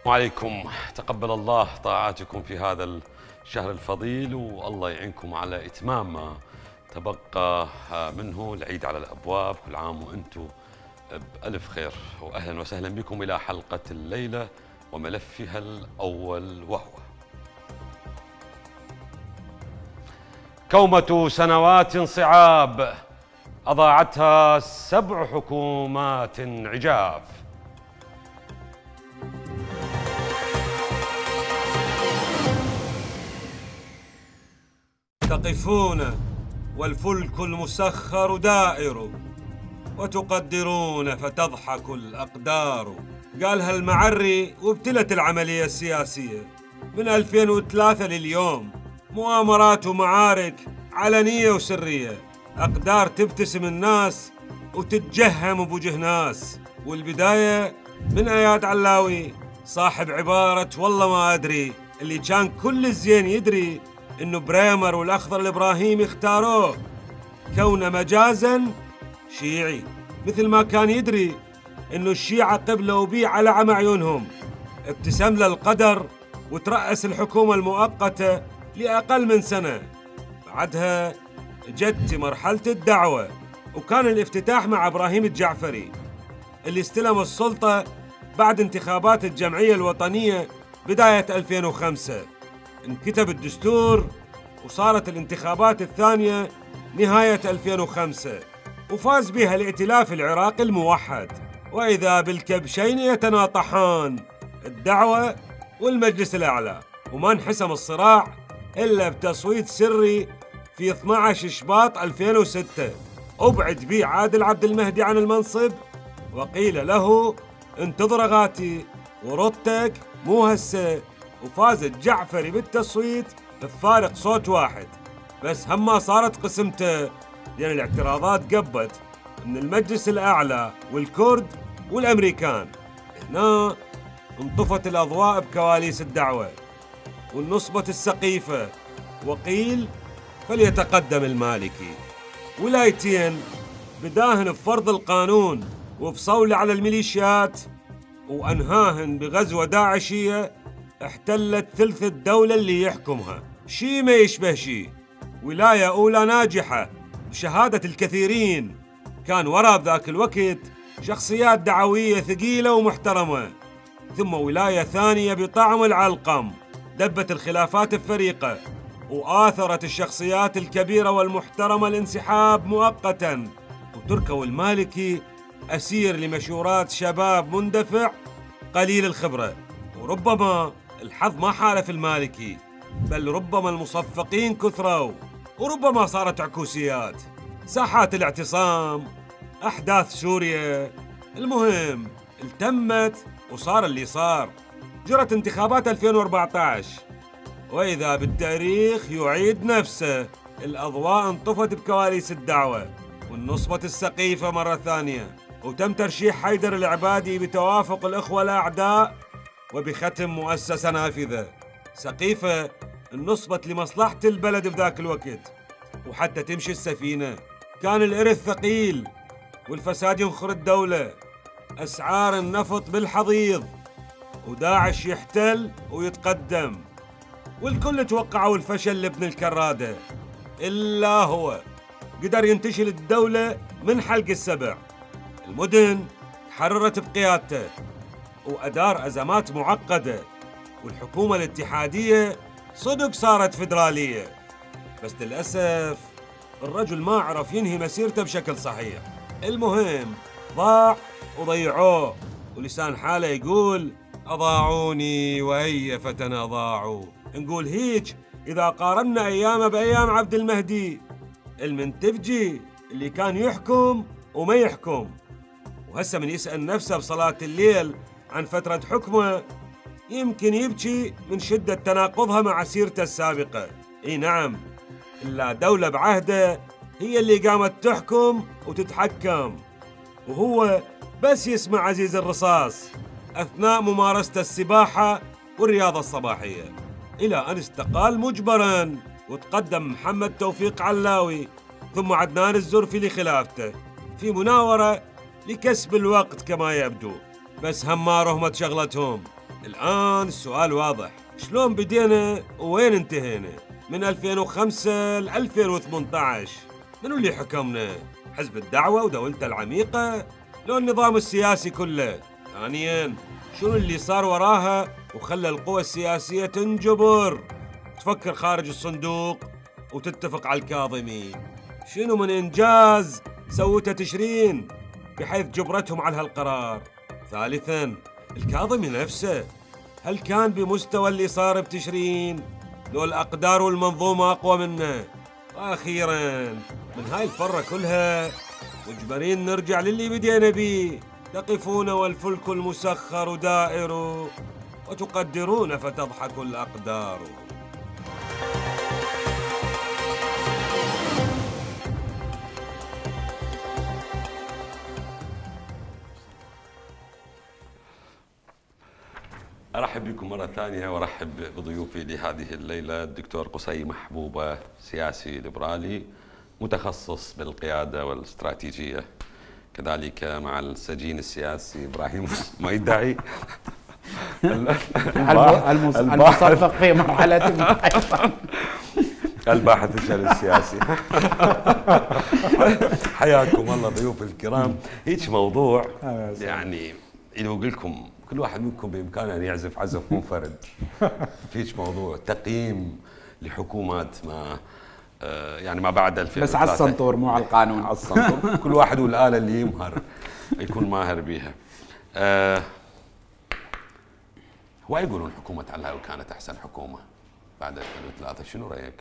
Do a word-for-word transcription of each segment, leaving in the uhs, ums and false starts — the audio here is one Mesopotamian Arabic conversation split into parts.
وعليكم. تقبل الله طاعاتكم في هذا الشهر الفضيل، والله يعينكم على إتمام ما تبقى منه. العيد على الأبواب، كل عام وأنتم بألف خير. وأهلا وسهلا بكم إلى حلقة الليلة وملفها الأول، وهو كومة سنوات صعاب أضاعتها سبع حكومات عجاف. تقفون والفلك المسخر دائر، وتقدرون فتضحك الأقدار. قالها المعري وابتلت العملية السياسية من ألفين وثلاثة لليوم، مؤامرات ومعارك علنية وسرية، أقدار تبتسم الناس وتتجهم بوجه ناس. والبداية من اياد علاوي صاحب عبارة والله ما أدري، اللي كان كل الزين يدري إنه بريمر والأخضر الإبراهيمي اختاروه كونه مجازاً شيعي، مثل ما كان يدري إنه الشيعة قبلوا بيه على عمى عيونهم. ابتسم له القدر وترأس الحكومة المؤقتة لأقل من سنة. بعدها جت مرحلة الدعوة، وكان الافتتاح مع إبراهيم الجعفري اللي استلم السلطة بعد انتخابات الجمعية الوطنية بداية ألفين وخمسة. انكتب الدستور وصارت الانتخابات الثانية نهاية ألفين وخمسة، وفاز بها الائتلاف العراقي الموحد. وإذا بالكبشين يتناطحان، الدعوة والمجلس الأعلى، وما انحسم الصراع إلا بتصويت سري في اثني عشر شباط ألفين وستة. أبعد بيه عادل عبد المهدي عن المنصب، وقيل له انتظر غاتي ورطك مو هسه. وفاز الجعفري بالتصويت بفارق صوت واحد، بس هم صارت قسمته لأن الاعتراضات قبت من المجلس الأعلى والكرد والأمريكان. هنا انطفت الأضواء بكواليس الدعوة والنصبت السقيفة، وقيل فليتقدم المالكي. ولايتين بداهن بفرض القانون وبصولة على الميليشيات، وأنهاهن بغزوة داعشية احتلت ثلث الدولة اللي يحكمها. شي ما يشبه شي. ولاية أولى ناجحة بشهادة الكثيرين، كان وراء بذاك الوقت شخصيات دعوية ثقيلة ومحترمة. ثم ولاية ثانية بطعم العلقم دبت الخلافات الفريقة، وآثرت الشخصيات الكبيرة والمحترمة الانسحاب مؤقتاً. وتركوا المالكي أسير لمشورات شباب مندفع قليل الخبرة. وربما الحظ ما حالف المالكي، بل ربما المصفقين كثروا، وربما صارت عكوسيات، ساحات الاعتصام، أحداث سوريا. المهم التمت وصار اللي صار. جرت انتخابات ألفين وأربعة عشر، وإذا بالتاريخ يعيد نفسه. الأضواء انطفت بكواليس الدعوة والنصبة السقيفة مرة ثانية، وتم ترشيح حيدر العبادي بتوافق الإخوة الأعداء وبختم مؤسسة نافذة. سقيفة النصبت لمصلحة البلد بذاك الوقت، وحتى تمشي السفينة كان الإرث ثقيل والفساد ينخر الدولة. أسعار النفط بالحضيض، وداعش يحتل ويتقدم، والكل توقعوا الفشل لابن الكرادة، إلا هو قدر ينتشل الدولة من حلق السبع. المدن تحررت بقيادته، وأدار أزمات معقدة، والحكومة الاتحادية صدق صارت فيدرالية. بس للأسف الرجل ما عرف ينهي مسيرته بشكل صحيح. المهم ضاع وضيعوه، ولسان حاله يقول أضاعوني وهي فتنا ضاعوا. نقول هيج إذا قارنا أيامه بأيام عبد المهدي المنتفجي اللي كان يحكم وما يحكم. وهسه من يسأل نفسه بصلاة الليل عن فترة حكمه يمكن يبكي من شدة تناقضها مع سيرته السابقة. اي نعم، إلا دولة بعهده هي اللي قامت تحكم وتتحكم، وهو بس يسمع عزيز الرصاص أثناء ممارسة السباحة والرياضة الصباحية، إلى أن استقال مجبراً وتقدم محمد توفيق علاوي ثم عدنان الزرفي لخلافته في مناورة لكسب الوقت كما يبدو. بس هم ما رهمت شغلتهم، الآن السؤال واضح، شلون بدينا ووين انتهينا؟ من ألفين وخمسة ل ألفين وثمانية عشر منو اللي حكمنا؟ حزب الدعوة ودولته العميقة؟ لو النظام السياسي كله؟ ثانياً، شنو اللي صار وراها وخلى القوى السياسية تنجبر تفكر خارج الصندوق وتتفق على الكاظمي؟ شنو من إنجاز سوته تشرين بحيث جبرتهم على هالقرار؟ ثالثاً، الكاظمي نفسه هل كان بمستوى اللي صار بتشرين؟ لو الأقدار والمنظومة أقوى منه؟ وأخيراً، من هاي الفرة كلها مجبرين نرجع للي بدينا بيه، تقفون والفلك المسخر دائر وتقدرون فتضحك الأقدار. أرحب بكم مرة ثانية وأرحب بضيوفي لهذه الليلة الدكتور قصي محبوبة، سياسي ليبرالي متخصص بالقيادة والاستراتيجية، كذلك مع السجين السياسي إبراهيم ما يدعي المصفق في مرحلة الباحث الشأن السياسي. حياكم الله ضيوف الكرام. هيك موضوع يعني إذا أقول لكم كل واحد منكم بإمكانه أن يعزف عزف منفرد. فيش موضوع تقييم لحكومات ما يعني ما بعد ألفين وثلاثة، بس على السنطور مو على القانون، على السنطور. كل واحد والآلة اللي يمهر يكون ماهر بيها. أه هو يقولون حكومة علاوي كانت أحسن حكومة بعد ألفين وثلاثة، شنو رأيك؟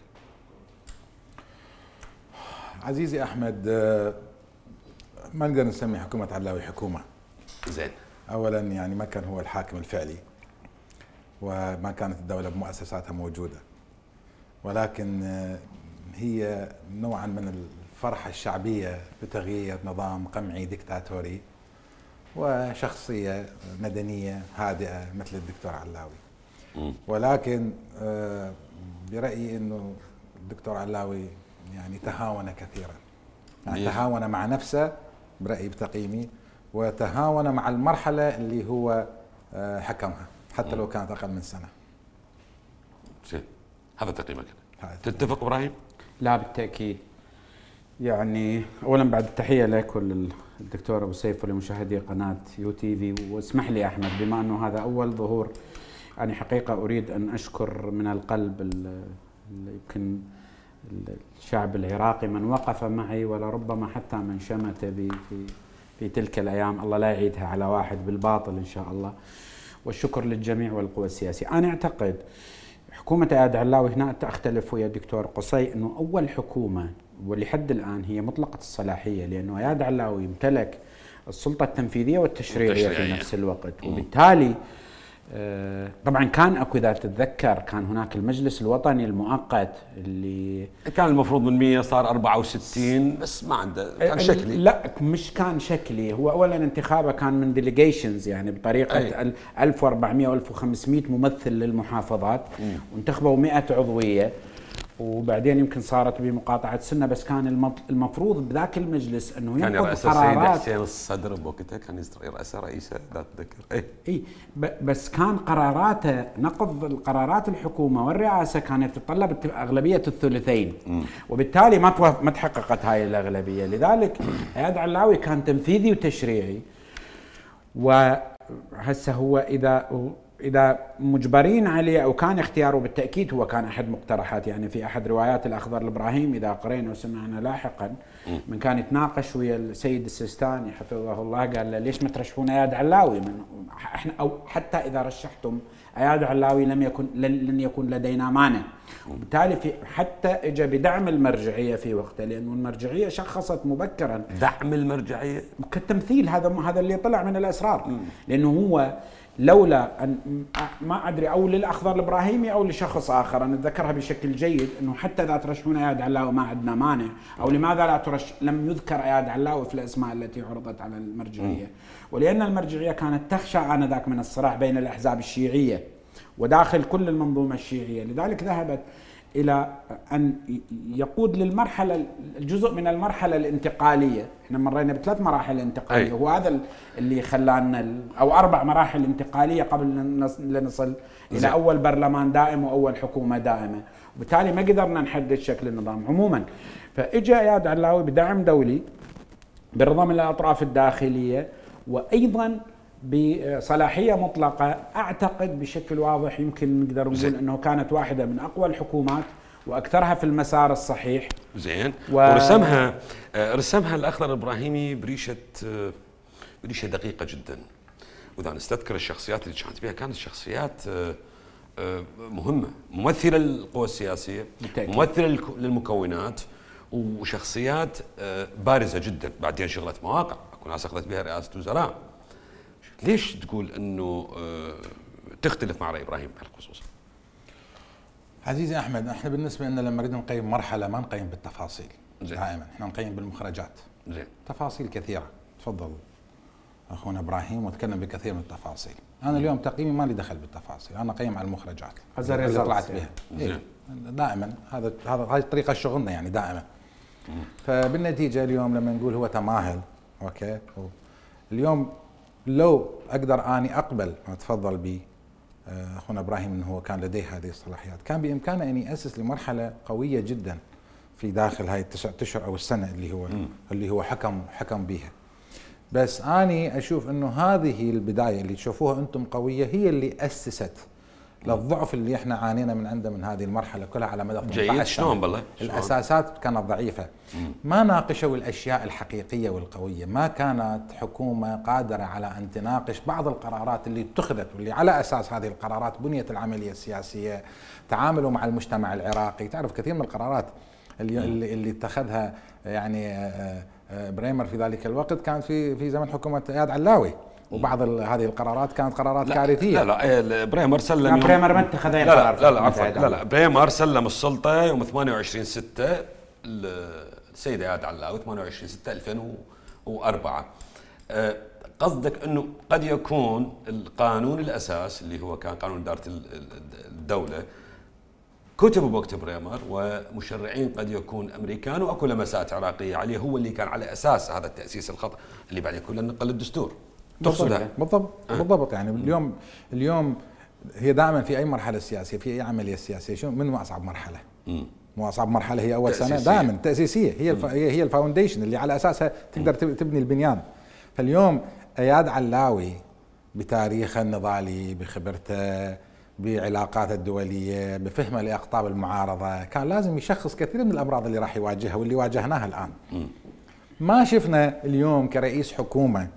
عزيزي أحمد، ما نقدر نسمي حكومة علاوي حكومة. زين. أولاً يعني ما كان هو الحاكم الفعلي وما كانت الدولة بمؤسساتها موجودة، ولكن هي نوعاً من الفرحة الشعبية بتغيير نظام قمعي ديكتاتوري وشخصية مدنية هادئة مثل الدكتور علاوي. ولكن برأيي أنه الدكتور علاوي يعني تهاون كثيراً، يعني تهاون مع نفسه برأيي بتقييمي، وتهاون مع المرحلة اللي هو حكمها حتى لو كانت أقل من سنة. زين، هذا تقييمك. تتفق إبراهيم؟ لا بالتأكيد. يعني أولا بعد التحية لك وللدكتور أبو سيف ولمشاهدي قناة يو تي في، واسمح لي أحمد بما أنه هذا أول ظهور، يعني حقيقة أريد أن أشكر من القلب يمكن الشعب العراقي من وقف معي ولربما حتى من شمت بي في في تلك الأيام، الله لا يعيدها على واحد بالباطل إن شاء الله. والشكر للجميع والقوى السياسية. أنا أعتقد حكومة إياد علاوي، هنا أختلف ويا الدكتور قصي، أنه أول حكومة ولحد الآن هي مطلقة الصلاحية، لأنه إياد علاوي يمتلك السلطة التنفيذية والتشريعية في نفس الوقت، وبالتالي آه طبعا كان اكو اذا تتذكر كان هناك المجلس الوطني المؤقت اللي كان المفروض من مية صار أربعة وستين، بس ما عنده كان شكلي. لا مش كان شكلي، هو اولا انتخابه كان من ديليجيشنز، يعني بطريقه أي. ألف وأربعمئة وألف وخمسمئة ممثل للمحافظات، وانتخبوا مئة عضويه، وبعدين يمكن صارت بمقاطعه سنه، بس كان المفروض بذاك المجلس انه كان ياخذ قرارات. حسين الصدر بوقتها كان يرأس رئيسه، لا اتذكر. اي اي بس كان قراراته نقض القرارات الحكومه والرئاسه كانت تتطلب اغلبيه الثلثين، م. وبالتالي ما ما تحققت هاي الاغلبيه، لذلك إياد علاوي كان تنفيذي وتشريعي. وهسه هو اذا إذا مجبرين عليه أو كان اختياره، بالتأكيد هو كان أحد مقترحات، يعني في أحد روايات الأخضر الإبراهيم إذا قرينا وسمعنا لاحقا من كان يتناقش ويا السيد السيستاني حفظه الله، قال له ليش ما ترشحون إياد علاوي؟ من احنا أو حتى إذا رشحتم إياد علاوي لم يكن لن يكون لدينا مانع. وبالتالي في حتى اجى بدعم المرجعيه في وقته، لانه المرجعيه شخصت مبكرا دعم المرجعيه كالتمثيل، هذا هذا اللي طلع من الاسرار، لانه هو لولا أن ما أدري أو للأخضر الإبراهيمي أو لشخص آخر، أنا أتذكرها بشكل جيد، أنه حتى لا ترشحون إياد علاوي ما عندنا مانع، أو لماذا لا ترش لم يذكر إياد علاوي في الأسماء التي عرضت على المرجعية، ولأن المرجعية كانت تخشى آنذاك من الصراع بين الأحزاب الشيعية وداخل كل المنظومة الشيعية، لذلك ذهبت الى ان يقود للمرحله الجزء من المرحله الانتقاليه. احنا مرينا بثلاث مراحل انتقاليه، هو هذا اللي خلانا او اربع مراحل انتقاليه قبل لنصل الى اول برلمان دائم واول حكومه دائمه، وبالتالي ما قدرنا نحدد شكل النظام عموما. فاجى اياد علاوي بدعم دولي برضا من الاطراف الداخليه، وايضا بصلاحيه مطلقه. اعتقد بشكل واضح يمكن نقدر نقول انه كانت واحده من اقوى الحكومات واكثرها في المسار الصحيح. زين. و... ورسمها رسمها الاخضر الابراهيمي بريشه بريشه دقيقه جدا. واذا نستذكر الشخصيات اللي كانت بها، كانت شخصيات مهمه، ممثله للقوى السياسيه، ممثله للمكونات، وشخصيات بارزه جدا. بعدين شغلت مواقع، اكو ناس اخذت بها رئاسه وزراء. ليش تقول انه تختلف مع راي ابراهيم بهالخصوص؟ عزيزي احمد، احنا بالنسبه لنا لما نريد نقيم مرحله ما نقيم بالتفاصيل. زين. دائما احنا نقيم بالمخرجات. زين. تفاصيل كثيره، تفضل اخونا ابراهيم وتكلم بكثير من التفاصيل. انا اليوم تقييمي ما لي دخل بالتفاصيل، انا اقيم على المخرجات اللي طلعت بها. إيه؟ دائما هذا هذا هاي طريقه شغلنا يعني دائما. فبالنتيجه اليوم لما نقول هو تماهل، اوكي، اليوم لو اقدر اني اقبل ما تفضل به اخونا ابراهيم انه هو كان لديه هذه الصلاحيات، كان بامكانه اني اسس لمرحله قويه جدا في داخل هاي التسع اشهر او السنه اللي هو م. اللي هو حكم حكم بها. بس اني اشوف انه هذه البدايه اللي تشوفوها انتم قويه هي اللي اسست للضعف اللي احنا عانينا من عنده من هذه المرحله كلها على مدى ثمانية عشر سنة. شلون بالله؟ الاساسات كانت ضعيفه، ما ناقشوا الاشياء الحقيقيه والقويه، ما كانت حكومه قادره على ان تناقش بعض القرارات اللي اتخذت واللي على اساس هذه القرارات بنيت العمليه السياسيه، تعاملوا مع المجتمع العراقي. تعرف كثير من القرارات اللي اللي, اللي اتخذها يعني بريمر في ذلك الوقت كانت في في زمن حكومه اياد علاوي، وبعض هذه القرارات كانت قرارات لا كارثيه. لا لا بريمر سلم بريمر ما اتخذ اي قرار. لا لا لا عفوا لا لا بريمر سلم السلطه يوم ثمانية وعشرين ستة السيده اياد علاوي ثمانية وعشرين ستة ألفين وأربعة. قصدك انه قد يكون القانون الاساس اللي هو كان قانون اداره الدوله كتب بوقت بريمر، ومشرعين قد يكون امريكان واكو لمسات عراقيه عليه، هو اللي كان على اساس هذا التاسيس الخطا اللي بعد يكون نقل الدستور. تقصدها بالضبط أه. بالضبط. يعني اليوم اليوم هي دائما في اي مرحله سياسيه، في اي عمليه سياسيه، شو من اصعب مرحله؟ امم مو اصعب مرحله هي اول تأسيسية. سنه دائما تاسيسيه، هي الف... هي الفاونديشن اللي على اساسها تقدر تبني البنيان. فاليوم اياد علاوي بتاريخه النضالي، بخبرته، بعلاقاته الدوليه، بفهمه لاقطاب المعارضه، كان لازم يشخص كثير من الامراض اللي راح يواجهها واللي واجهناها الان. م. ما شفنا اليوم كرئيس حكومه،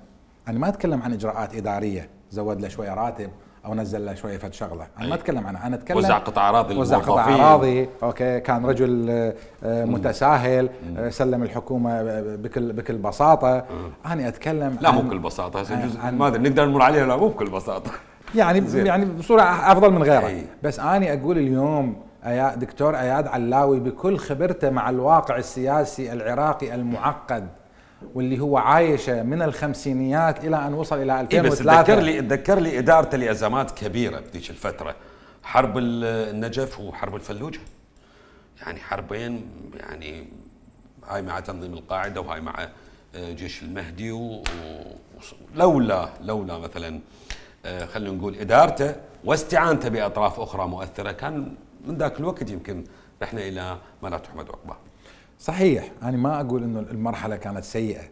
انا ما اتكلم عن اجراءات اداريه، زود له شويه راتب او نزل له شويه فد شغله، انا ما اتكلم عنها، انا اتكلم وزع قطع اراضي وزع قطع اراضي، اوكي، كان رجل متساهل، سلم الحكومه بكل بكل بساطه. انا اتكلم لا مو بكل بساطه، هسه جزء ما نقدر نمر عليها، لا مو بكل بساطه يعني يعني بصوره افضل من غيره. أي. بس اني اقول اليوم دكتور اياد علاوي بكل خبرته مع الواقع السياسي العراقي المعقد واللي هو عايشه من الخمسينيات الى ان وصل الى ألفين وثلاثة. إيه بس تذكر لي تذكر لي ادارته لازمات كبيره بذيك الفتره، حرب النجف وحرب الفلوجه، يعني حربين، يعني هاي مع تنظيم القاعده وهاي مع جيش المهدي، ولولا لولا مثلا خلينا نقول ادارته واستعانته باطراف اخرى مؤثره كان من ذاك الوقت يمكن رحنا الى ما لا تحمد عقباه. صحيح، انا ما اقول انه المرحله كانت سيئه،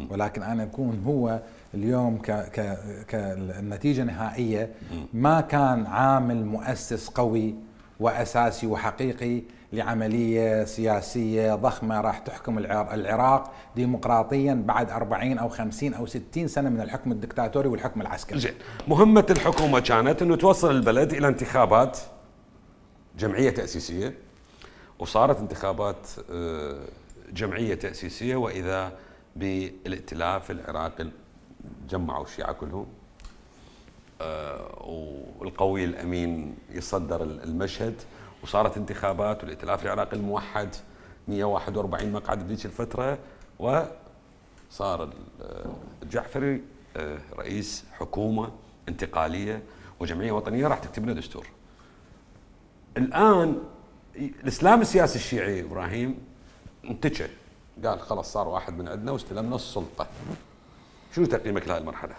ولكن انا اكون هو اليوم ك ك كالنتيجه النهائيه ما كان عامل مؤسس قوي واساسي وحقيقي لعمليه سياسيه ضخمه راح تحكم العراق ديمقراطيا بعد أربعين او خمسين او ستين سنه من الحكم الدكتاتوري والحكم العسكري. زين، مهمه الحكومه كانت انه توصل البلد الى انتخابات جمعيه تاسيسيه، وصارت انتخابات جمعيه تاسيسيه، واذا بالائتلاف العراقي جمعوا الشيعة كلهم، والقوي الامين يصدر المشهد، وصارت انتخابات والائتلاف العراقي الموحد مئة وواحد وأربعين مقعد بذيك الفتره، وصار الجعفري رئيس حكومه انتقاليه وجمعيه وطنيه راح تكتب لنا دستور. الان الاسلام السياسي الشيعي ابراهيم انتشى، قال خلاص صار واحد من عندنا واستلمنا السلطه. شو تقييمك لهذه المرحله؟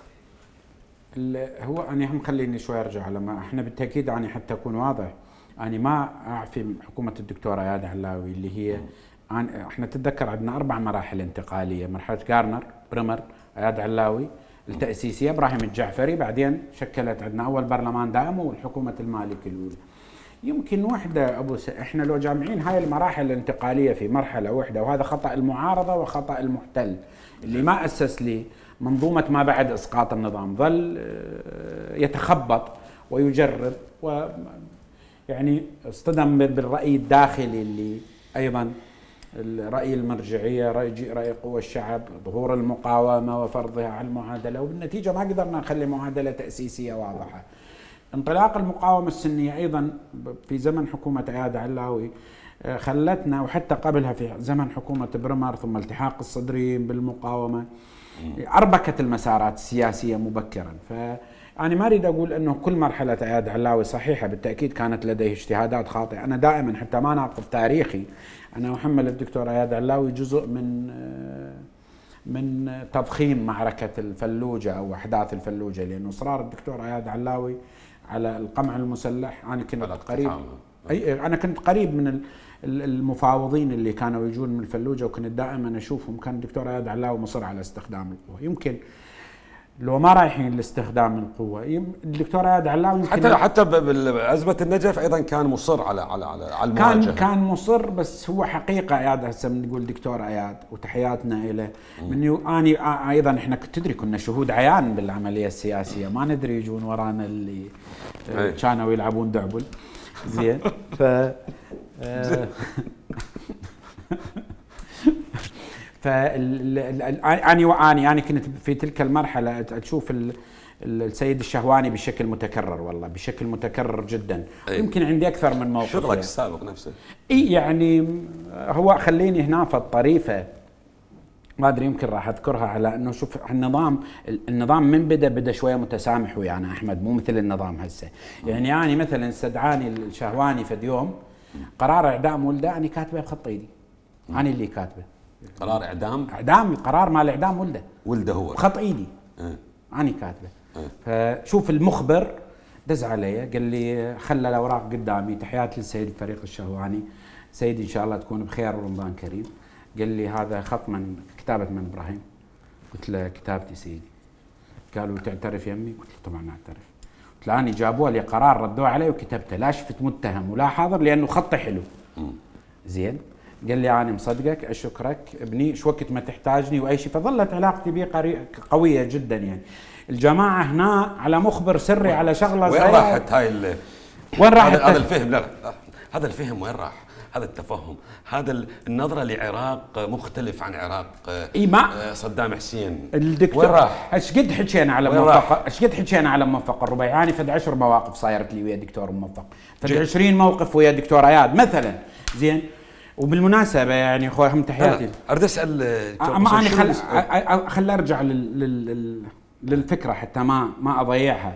هو انا هم خليني شوي ارجع لما احنا بالتاكيد يعني حتى اكون واضح، انا ما اعفي حكومه الدكتور اياد علاوي اللي هي احنا تتذكر عندنا اربع مراحل انتقاليه، مرحله غارنر، بريمر، اياد علاوي، التاسيسيه، ابراهيم الجعفري، بعدين شكلت عندنا اول برلمان دائم والحكومه المالكي الاولى. يمكن وحده ابو س... احنا لو جامعين هاي المراحل الانتقاليه في مرحله واحده، وهذا خطا المعارضه وخطا المحتل اللي ما اسس لي منظومه ما بعد اسقاط النظام، ظل يتخبط ويجرب، و يعني اصطدم بالراي الداخلي اللي ايضا الراي المرجعيه، راي راي قوى الشعب، ظهور المقاومه وفرضها على المعادله، وبالنتيجه ما قدرنا نخلي معادله تاسيسيه واضحه. انطلاق المقاومه السنيه ايضا في زمن حكومه اياد علاوي خلتنا، وحتى قبلها في زمن حكومه برمر، ثم التحاق الصدريين بالمقاومه، اربكت المسارات السياسيه مبكرا. فانا ما اريد اقول انه كل مرحله اياد علاوي صحيحه، بالتاكيد كانت لديه اجتهادات خاطئه. انا دائما حتى ما ناقض تاريخي، انا احمل الدكتور اياد علاوي جزء من من تضخيم معركه الفلوجه او احداث الفلوجه، لانه اصرار الدكتور اياد علاوي على القمع المسلح، انا كنت قريب اي انا كنت قريب من المفاوضين اللي كانوا يجون من الفلوجه، وكنت دائما اشوفهم. كان الدكتور اياد علاوي مصر على استخدام القوه، يمكن لو ما رايحين لاستخدام القوه الدكتور اياد علاوي حتى حتى بازمه النجف ايضا كان مصر على على على, على المواجهه. كان كان مصر، بس هو حقيقه اياد هسه بنقول دكتور اياد وتحياتنا له، من اني ايضا احنا تدري كنا شهود عيان بالعمليه السياسيه، ما ندري يجون ورانا اللي كانوا يلعبون دعبل زين. ف فاني واني انا كنت في تلك المرحله اشوف السيد الشهواني بشكل متكرر، والله بشكل متكرر جدا. أيه. يمكن عندي اكثر من موقف. شغلك السابق نفسه. اي يعني هو خليني هنا في الطريفه، ما ادري يمكن راح اذكرها، على انه شوف النظام النظام من بدا بدا شويه متسامح ويانا احمد، مو مثل النظام هسه. يعني يعني مثلا استدعاني الشهواني في يوم قرار اعدام ولده، انا كاتبه بخط ايدي، انا اللي كاتبه قرار اعدام اعدام قرار مال اعدام ولده ولده هو بخط ايدي. أه. انا كاتبه. أه. فشوف المخبر دز علي قال لي خلى الاوراق قدامي، تحياتي للسيد الفريق الشهواني، سيدي ان شاء الله تكون بخير ورمضان كريم. قال لي هذا خط من كتابه من ابراهيم. قلت له كتابتي سيدي. قالوا تعترف يمي؟ قلت له طبعا اعترف. قلت له اني جابوا لي قرار ردوه علي وكتبته، لا شفت متهم ولا حاضر لانه خطي حلو. زين. قال لي انا مصدقك، اشكرك ابني، شو وقت ما تحتاجني واي شيء. فظلت علاقتي به قويه جدا. يعني الجماعه هنا على مخبر سري على شغله وين راحت هاي ال وين راحت هذا الفهم؟ لا لا هذا الفهم وين راح؟ هذا التفهم، هذا النظره لعراق مختلف عن عراق إيه ما صدام حسين. الدكتور وين راح؟ ايش قد حكينا على موفق، ايش قد حكينا على موفق الربيعاني، فد عشر مواقف صايرت لي ويا الدكتور موفق، فد عشرين موقف ويا الدكتور اياد مثلا. زين. وبالمناسبه يعني اخوي هم تحياتي. اريد اسال اما انا خل خل ارجع لل... لل... للفكره حتى ما ما اضيعها.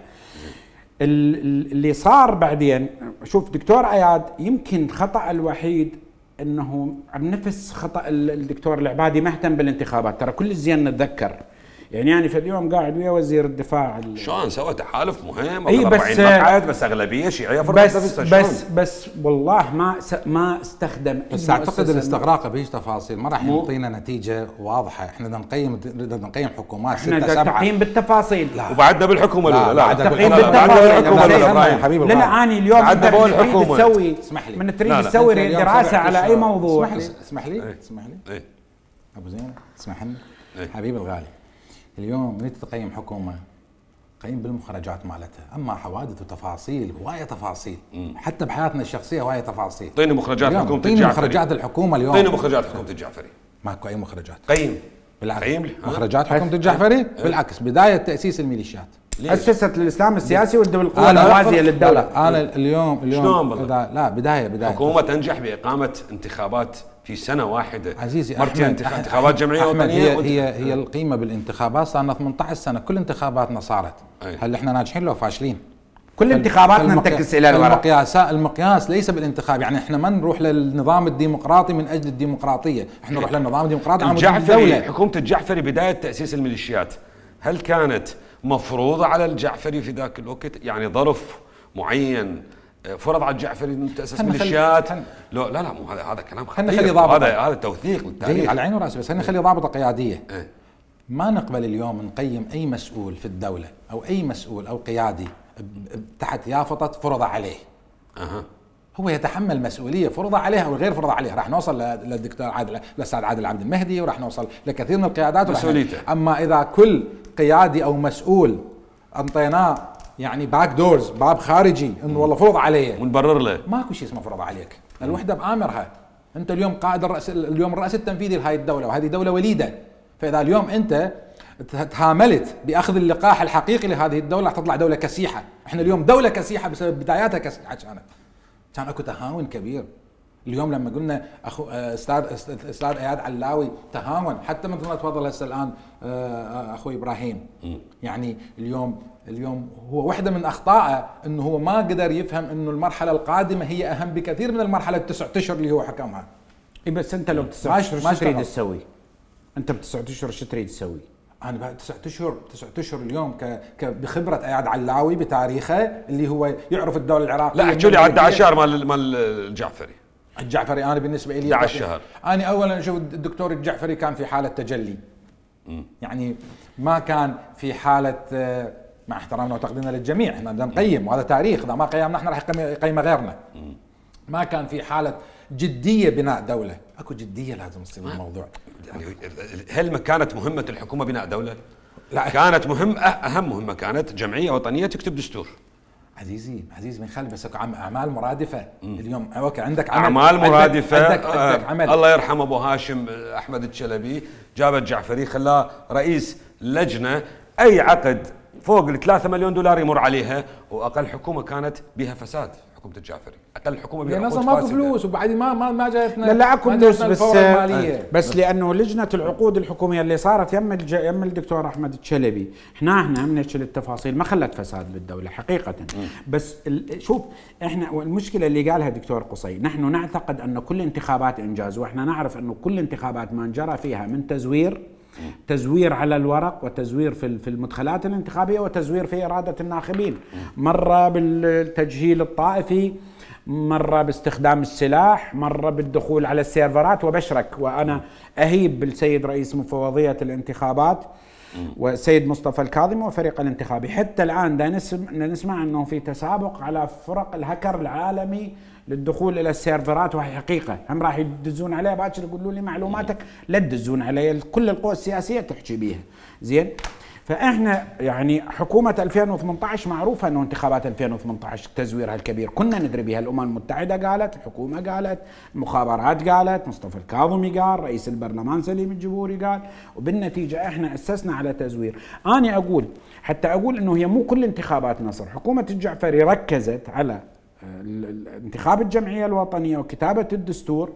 اللي صار بعدين، شوف دكتور اياد يمكن خطأ الوحيد انه بنفس خطأ الدكتور العبادي ما اهتم بالانتخابات. ترى كل الزين نتذكر، يعني يعني في اليوم قاعد ويا وزير الدفاع شلون سوى تحالف مهم اي بس مقعد، بس اغلبيه شيعيه بس بس بس والله ما ما استخدم. بس اعتقد الاستغراق بهيج تفاصيل ما راح يعطينا نتيجه واضحه. احنا بدنا نقيم بدنا نقيم حكومات ستة سبعة، تقييم بالتفاصيل. وبعدنا بالحكومه الاولى. لا تقييم بالتفاصيل حبيبي. لا اني اليوم بعدنا بقول الحكومه تسوي، اسمح لي، من تريد تسوي دراسه على اي موضوع. اسمح لي اسمح لي اسمح لي ابو زين اسمح لي حبيبي الغالي. اليوم من تقيم حكومه قيم بالمخرجات مالتها، اما حوادث وتفاصيل هوايه تفاصيل. مم. حتى بحياتنا الشخصيه هوايه تفاصيل. اعطيني مخرجات حكومه الجعفري. اعطيني مخرجات الحكومه اليوم. اعطيني مخرجات حكومه الجعفري. ماكو اي مخرجات. قيم بالعكس. قيم مخرجات حكومه الجعفري اه. بالعكس بدايه تاسيس الميليشيات، اسست الاسلام السياسي والقوى الموازيه للدوله. انا اليوم اليوم شلون لا بدايه بدايه حكومه تنجح باقامه انتخابات في سنه واحده عزيزي مرتين انتخابات جمعيه وطنيه. هي هي هي القيمه بالانتخابات صار لنا ثمانية عشر سنه كل انتخاباتنا صارت. هل احنا ناجحين لو فاشلين؟ كل انتخاباتنا انتكس الى الوراء. المقياس المقياس ليس بالانتخاب، يعني احنا ما نروح للنظام الديمقراطي من اجل الديمقراطيه، احنا نروح للنظام الديمقراطي عن الجعفري. حكومه الجعفري بدايه تاسيس الميليشيات هل كانت مفروضه على الجعفري في ذاك الوقت؟ يعني ظرف معين فرض على الجعفري انه تاسس ميليشيات؟ لا لا لا مو هذا هذا كلام خطير، هذا هذا توثيق للتاريخ على عيني وراسي، بس خلينا نخلي ضابطه قياديه. اه. ما نقبل اليوم نقيم اي مسؤول في الدوله او اي مسؤول او قيادي تحت يافطه فرض عليه. اها هو يتحمل مسؤوليه فرض عليه او غير فرض عليه. راح نوصل للدكتور عادل الاستاذ عادل عبد المهدي، وراح نوصل لكثير من القيادات مسؤوليته. اما اذا كل قيادي او مسؤول انطيناه يعني باك دورز، باب خارجي، انه والله فرض عليه ونبرر له، ماكو شيء اسمه فرض عليك. الوحده بامرها. انت اليوم قائد الرئيس، اليوم الرئيس التنفيذي لهذه الدوله، وهذه دوله وليده. فاذا اليوم انت تهاملت باخذ اللقاح الحقيقي لهذه الدوله راح تطلع دوله كسيحه. احنا اليوم دوله كسيحه بسبب بداياتها كسيحه. كانت كان اكو تهاون كبير. اليوم لما قلنا اخو استاذ استاذ اياد علاوي تهاون، حتى مثل ما تفضل هسه الان اخوي ابراهيم. يعني اليوم اليوم هو واحده من اخطائه انه هو ما قدر يفهم انه المرحله القادمه هي اهم بكثير من المرحله التسعة اشهر اللي هو حكمها. اي بس انت لو بتسعة اشهر شو تريد تسوي؟ انت بتسعة اشهر شو تريد تسوي؟ انا بعد تسعة اشهر تسعة اشهر اليوم ك بخبره اياد علاوي بتاريخه اللي هو يعرف الدوله العراقيه. لا احكي لي على احد عشر مال مال الجعفري. الجعفري انا بالنسبه لي احد عشر شهر. انا اولا اشوف الدكتور الجعفري كان في حاله تجلي. م. يعني ما كان في حاله، مع احترامنا وتقديرنا للجميع احنا بدنا نقيم وهذا تاريخ، اذا ما قيمنا احنا راح يقيم غيرنا. م. ما كان في حاله جديه بناء دوله. اكو جديه لازم تصير بالموضوع. يعني هل ما كانت مهمه الحكومه بناء دوله؟ لا كانت مهم، اهم مهمه كانت جمعيه وطنيه تكتب دستور. عزيزي عزيزي من خلف بس اعمال مرادفه. مم. اليوم اوكي عندك عمل اعمال مرادفه. عندك, عندك, عندك عمل. الله يرحم ابو هاشم احمد الشلبي جاب الجعفري خلاه رئيس لجنه، اي عقد فوق ال ثلاثة مليون دولار يمر عليها، واقل حكومه كانت بها فساد حكومه الجعفري، اقل حكومه بها فساد. ماكو فلوس وبعدين ما ما ما جايتنا. لا لا اكو فلوس بس آه بس لانه لجنه العقود الحكوميه اللي صارت يم يم الدكتور احمد الشلبي، احنا احنا هم نحكي التفاصيل ما خلت فساد بالدوله حقيقه. م. بس شوف احنا المشكله اللي قالها الدكتور قصي، نحن نعتقد ان كل انتخابات انجاز، واحنا نعرف انه كل انتخابات ما جرى فيها من تزوير تزوير على الورق وتزوير في في المدخلات الانتخابيه وتزوير في اراده الناخبين، مره بالتجهيل الطائفي، مره باستخدام السلاح، مره بالدخول على السيرفرات. وبشرك وانا اهيب بالسيد رئيس مفوضيه الانتخابات والسيد مصطفى الكاظمي وفريق الانتخابي، حتى الان دا نسمع انه في تسابق على فرق الهكر العالمي للدخول الى السيرفرات، وهي حقيقه هم راح يدزون عليها باكر يقولوا لي معلوماتك لا تدزون علي، كل القوى السياسيه تحكي بيها زين. فاحنا يعني حكومه ألفين وثمانية عشر معروفه انه انتخابات ألفين وثمانية عشر تزويرها الكبير كنا ندري بها، الامم المتحده قالت، الحكومه قالت، المخابرات قالت، مصطفى الكاظمي قال، رئيس البرلمان سليم الجبوري قال، وبالنتيجه احنا اسسنا على تزوير. انا اقول حتى اقول انه هي مو كل انتخابات نصر، حكومه الجعفري ركزت على انتخاب الجمعيه الوطنيه وكتابه الدستور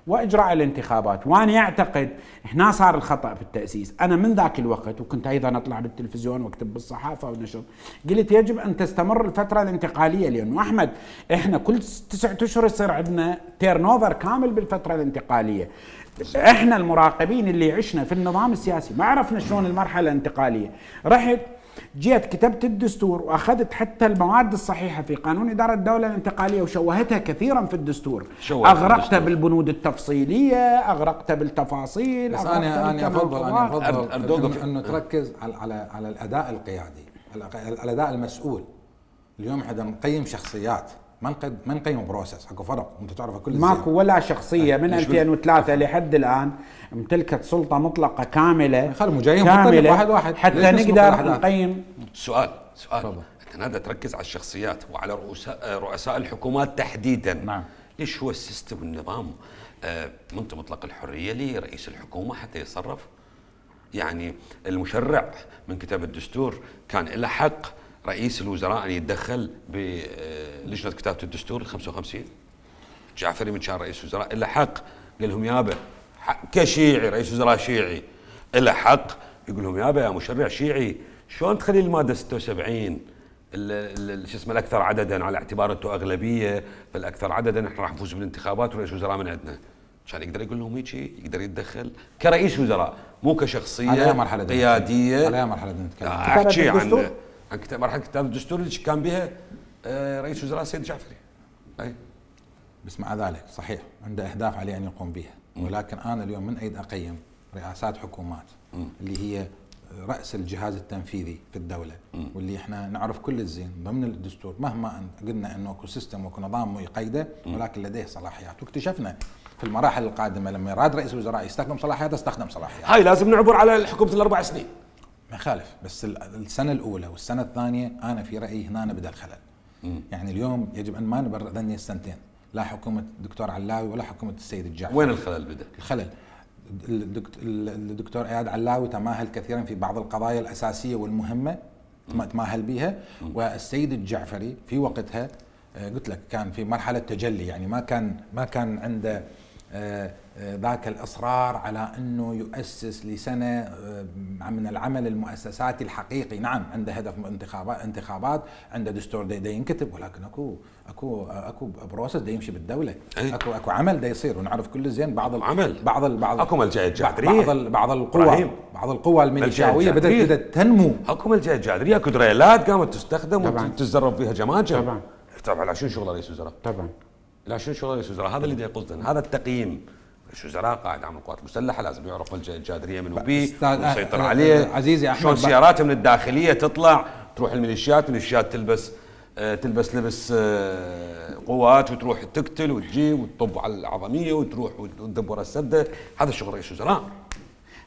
واجراء الانتخابات، وانا اعتقد هنا صار الخطا في التاسيس. انا من ذاك الوقت وكنت ايضا اطلع بالتلفزيون واكتب بالصحافه ونشر، قلت يجب ان تستمر الفتره الانتقاليه، لانه احمد احنا كل تسعة اشهر يصير عندنا تيرن اوفر كامل بالفتره الانتقاليه. احنا المراقبين اللي عشنا في النظام السياسي ما عرفنا شلون المرحله الانتقاليه. رحت جيت كتبت الدستور واخذت حتى المواد الصحيحه في قانون اداره الدوله الانتقاليه وشوهتها كثيرا في الدستور، اغرقتها بالبنود التفصيليه، اغرقتها بالتفاصيل. بس انا انا افضل انا افضل انه تركز على على على الاداء القيادي، الاداء المسؤول. اليوم احنا نقيم شخصيات، ما نقيم ما نقيم بروسس، اكو فرق انت تعرفه كل الزين. ماكو ولا شخصيه من ألفين وثلاثة لحد الان امتلكت سلطه مطلقه كامله كامله واحد واحد حتى نقدر نقيم. سؤال سؤال طبعا. انت نادى تركز على الشخصيات وعلى رؤساء رؤساء الحكومات تحديدا. نعم. ليش هو السيستم والنظام آه منت مطلق الحريه لرئيس الحكومه حتى يتصرف؟ يعني المشرع من كتاب الدستور كان له حق رئيس الوزراء ان يتدخل بلجنه كتابه الدستور ال خمسة وخمسين. جعفري من كان رئيس وزراء له حق، قال لهم يابا كشيعي رئيس وزراء شيعي له حق يقول لهم يابا يا مشرع شيعي شلون تخلي الماده ستة وسبعين شو اسمه الاكثر عددا على اعتبار انتم اغلبيه، فالاكثر عددا احنا راح نفوز بالانتخابات ورئيس وزراء من عندنا، عشان يقدر يقول لهم هيك، يقدر يتدخل كرئيس وزراء مو كشخصيه على مرحله قياديه. على مرحله نتكلم احكي عن عن كتاب مرحله كتاب الدستور اللي كان بها رئيس وزراء السيد الجعفري. اي بس مع ذلك صحيح عنده اهداف عليه ان يقوم بها، ولكن انا اليوم من اريد اقيم رئاسات حكومات م. اللي هي راس الجهاز التنفيذي في الدوله، م. واللي احنا نعرف كل الزين ضمن الدستور مهما قلنا انه اكو سيستم واكو نظام يقيده، ولكن لديه صلاحيات، واكتشفنا في المراحل القادمه لما يراد رئيس الوزراء يستخدم صلاحياته استخدم صلاحياته. هاي لازم نعبر على حكومه الاربع سنين. ما يخالف، بس السنه الاولى والسنه الثانيه انا في رايي هنا بدا الخلل. م. يعني اليوم يجب ان ما نبرر ذني السنتين، لا حكومه الدكتور علاوي ولا حكومه السيد الجعفري. وين الخلل بدا؟ الخلل الدكتور اياد علاوي تماهل كثيرا في بعض القضايا الاساسيه والمهمه تماهل بها، والسيد الجعفري في وقتها قلت لك كان في مرحله تجلي، يعني ما كان ما كان عنده ذاك الاصرار على انه يؤسس لسنه من العمل المؤسساتي الحقيقي. نعم عنده هدف انتخابات انتخابات عنده دستور دا ينكتب، ولكن اكو اكو اكو بروسس دا يمشي بالدوله، اكو اكو عمل دا يصير، ونعرف كل زين بعض عمل بعض بعض اكو ملجأ الجعفريه، بعض بعض القوى بعض القوى الميليشياويه بدات بدات تنمو. اكو ملجأ الجعفريه، اكو دريلات قامت تستخدم وتتزرب فيها جماجم. طبعا طبعا عشان شغل رئيس وزراء، طبعا لا شنو شغل رئيس وزراء، هذا اللي دا يقصدنا، هذا التقييم. رئيس وزراء قائد عام القوات المسلحه لازم يعرف ملجأ الجادريه من وبيه ويسيطر عليه. عزيزي احمد شلون سيارات من الداخليه تطلع تروح الميليشيات، الميليشيات تلبس آه تلبس لبس آه قوات وتروح تقتل وتجيب وتطب على العظميه وتروح وتدب ورا السده. هذا شغل رئيس وزراء.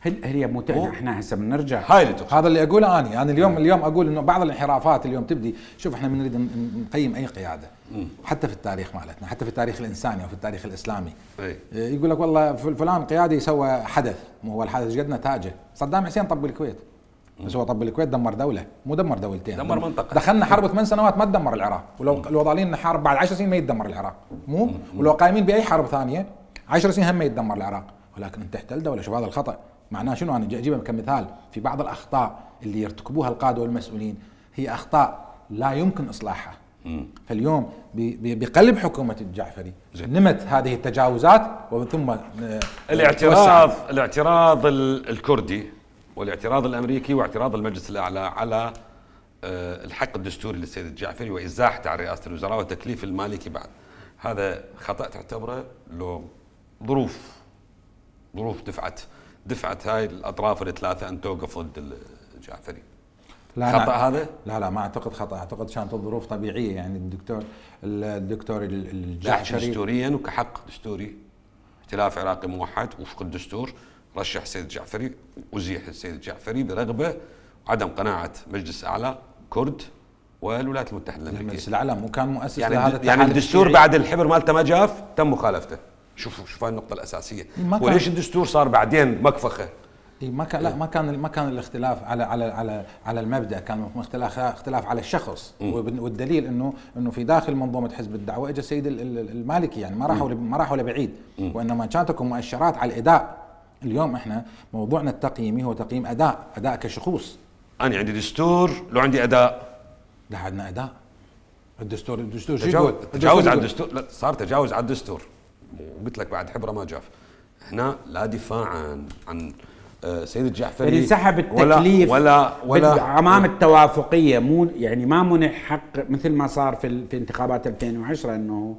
هل هي مو احنا هسه بنرجع هاي اللي هذا اللي اقوله اني انا اليوم اليوم اقول انه بعض الانحرافات اليوم تبدي. شوف احنا بنريد نقيم اي قياده حتى في التاريخ مالتنا، حتى في التاريخ الانساني وفي التاريخ الاسلامي. أي. يقول لك والله فلان قيادي سوى حدث، مو هو الحدث قد نتاجه. صدام حسين طب الكويت، بس هو طب الكويت دمر دوله، مو دمر دولتين، دمر منطقه. دخلنا حرب ثمان سنوات ما تدمر العراق، ولو لو ظالين نحارب بعد عشر سنين ما يتدمر العراق، مو ولو قايمين باي حرب ثانيه عشر سنين هم ما يتدمر العراق، ولكن انت تحتل دوله. شوف هذا الخطا معناه شنو؟ انا اجيبها كمثال في بعض الاخطاء اللي يرتكبوها القاده والمسؤولين، هي اخطاء لا يمكن اصلاحها. مم. فاليوم بقلب حكومه الجعفري نمت هذه التجاوزات، وثم الاعتراض الاعتراض الكردي والاعتراض الامريكي واعتراض المجلس الاعلى على الحق الدستوري للسيد الجعفري وازاحته عن رئاسه الوزراء وتكليف المالكي بعد، هذا خطا تعتبره لو ظروف ظروف دفعت دفعت هاي الاطراف الثلاثه ان توقف ضد الجعفري؟ لا خطا لا هذا؟ لا لا ما اعتقد خطا، اعتقد كانت الظروف طبيعيه. يعني الدكتور الدكتور الجعفري دستوريا وكحق دستوري ائتلاف عراقي موحد وفق الدستور رشح السيد الجعفري وزيح السيد الجعفري برغبه وعدم قناعه مجلس اعلى كرد والولايات المتحده الامريكيه. المجلس الاعلى مو كان مؤسس يعني لهذا يعني الدستور بعد الحبر مالته ما جاف تم مخالفته. شوفوا شوف هاي النقطه الاساسيه، وليش الدستور صار بعدين مكفخه؟ ما كان لا ما كان ما كان الاختلاف على على على على المبدا، كان اختلاف اختلاف على الشخص. م. والدليل انه انه في داخل منظومه حزب الدعوه اجى السيد المالكي، يعني ما راحوا ما راحوا لبعيد، وانما كانت لكم مؤشرات على الاداء. اليوم احنا موضوعنا التقييمي هو تقييم اداء، اداء كشخوص. انا عندي دستور لو عندي اداء، لا عندنا اداء. الدستور الدستور شو يقول؟ تجاوز على الدستور، لا صار تجاوز على الدستور. قلت لك بعد حبره ما جاف. هنا لا دفاعا عن سيد الجعفري يعني سحب التكليف ولا ولا, ولا امام التوافقيه، مو يعني ما منح حق مثل ما صار في في انتخابات ألفين وعشرة انه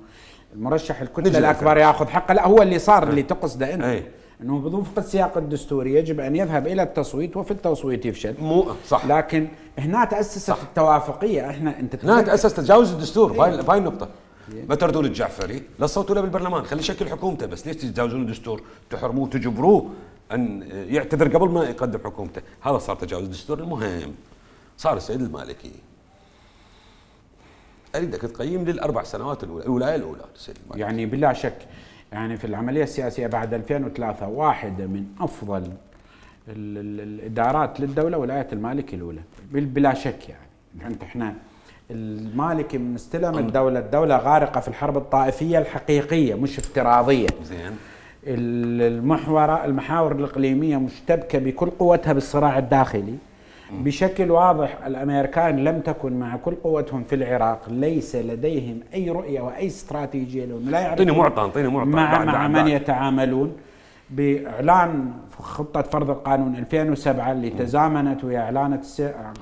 المرشح الكتله الاكبر ياخذ حقه. لا هو اللي صار اللي تقصده انت أي. انه بوفق السياق الدستوري يجب ان يذهب الى التصويت، وفي التصويت يفشل. مو صح، لكن هنا تاسست صح. التوافقيه. احنا انت هنا تاسس تجاوز الدستور. هاي هاي النقطه. ما تردون الجعفري لا تصوتوا له بالبرلمان، خلي يشكل حكومته، بس ليش تتجاوزون الدستور؟ تحرموه تجبروه ان يعتذر قبل ما يقدم حكومته. هذا صار تجاوز الدستور. المهم صار السيد المالكي، اريدك تقيم للاربع سنوات الاولى، الولايه الاولى السيد المالكي. يعني بلا شك يعني في العمليه السياسيه بعد ألفين وثلاثة واحده من افضل ال ال الادارات للدوله ولايه المالكي الاولى بلا شك. يعني انت احنا المالكي من استلم الدوله، الدوله غارقه في الحرب الطائفيه الحقيقيه مش افتراضيه. زين. المحور المحاور الاقليميه مشتبكه بكل قوتها بالصراع الداخلي. بشكل واضح الامريكان لم تكن مع كل قوتهم في العراق، ليس لديهم اي رؤيه واي استراتيجيه لانه لا يعرفون اعطيني معطى اعطيني معطى مع, مع من يتعاملون. باعلان خطه فرض القانون ألفين وسبعة اللي تزامنت ويا اعلان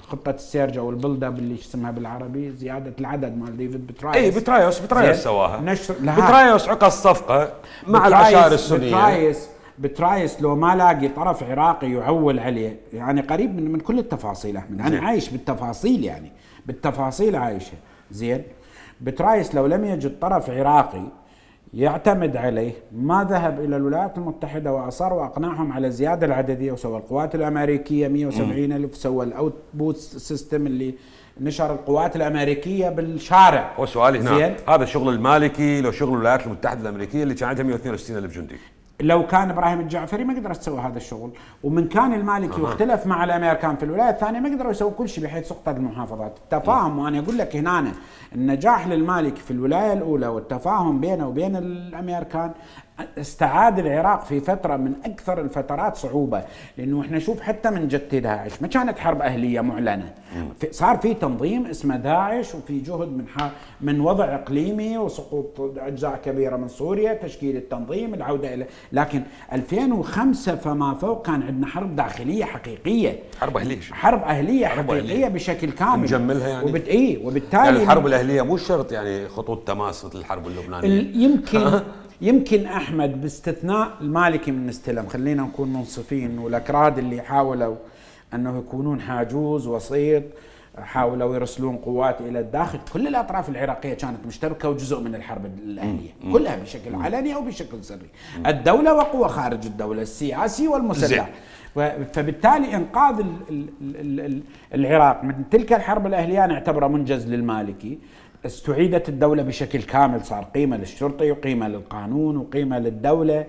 خطه السيرج او البلدب اللي اسمها بالعربي زياده العدد مال ديفيد بترايس. اي بترايس بترايس سواها نشر بترايس عقد الصفقه مع العشائر السنيه. بترايس بترايس لو ما لاقي طرف عراقي يعول عليه، يعني قريب من من كل التفاصيل احمد، انا عايش بالتفاصيل، يعني بالتفاصيل عايشه. زين بترايس لو لم يجد طرف عراقي يعتمد عليه ما ذهب الى الولايات المتحده واصر واقنعهم على الزياده العدديه، وسوى القوات الامريكيه مئة وسبعين ألف، سوى الاوت بوت سيستم اللي نشر القوات الامريكيه بالشارع. وسؤالي هنا، هذا شغل المالكي لو شغل الولايات المتحده الامريكيه اللي كان عندها مئة واثنين وستين ألف جندي؟ لو كان ابراهيم الجعفري ما قدر يسوي هذا الشغل، ومن كان المالكي أه. واختلف مع الامريكان في الولايات الثانيه ما قدروا يسووا كل شيء بحيث سقطت المحافظات. التفاهم، وانا اقول لك هنا النجاح للمالكي في الولايه الاولى والتفاهم بينه وبين الامريكان استعاد العراق في فتره من اكثر الفترات صعوبه، لانه احنا شوف حتى من جت داعش ما كانت حرب اهليه معلنه، صار في تنظيم اسمه داعش وفي جهد من من وضع اقليمي وسقوط اجزاء كبيره من سوريا، تشكيل التنظيم، العوده الى، لكن ألفين وخمسة فما فوق كان عندنا حرب داخليه حقيقيه، حرب اهليه حرب اهليه حرب حقيقيه أهلية. بشكل كامل نجملها يعني وبت... إيه وبالتالي يعني الحرب الاهليه مو شرط يعني خطوط تماس مثل الحرب اللبنانيه. يمكن يمكن احمد باستثناء المالكي من استلم، خلينا نكون منصفين، والاكراد اللي حاولوا انه يكونون حاجوز وسيط، حاولوا يرسلون قوات الى الداخل، كل الاطراف العراقيه كانت مشتركه وجزء من الحرب الاهليه كلها بشكل علني او بشكل سري، الدوله وقوى خارج الدوله، السياسي والمسلح. فبالتالي انقاذ ال ال ال العراق من تلك الحرب الاهليه نعتبره منجز للمالكي. استعيدت الدولة بشكل كامل، صار قيمة للشرطة وقيمة للقانون وقيمة للدولة.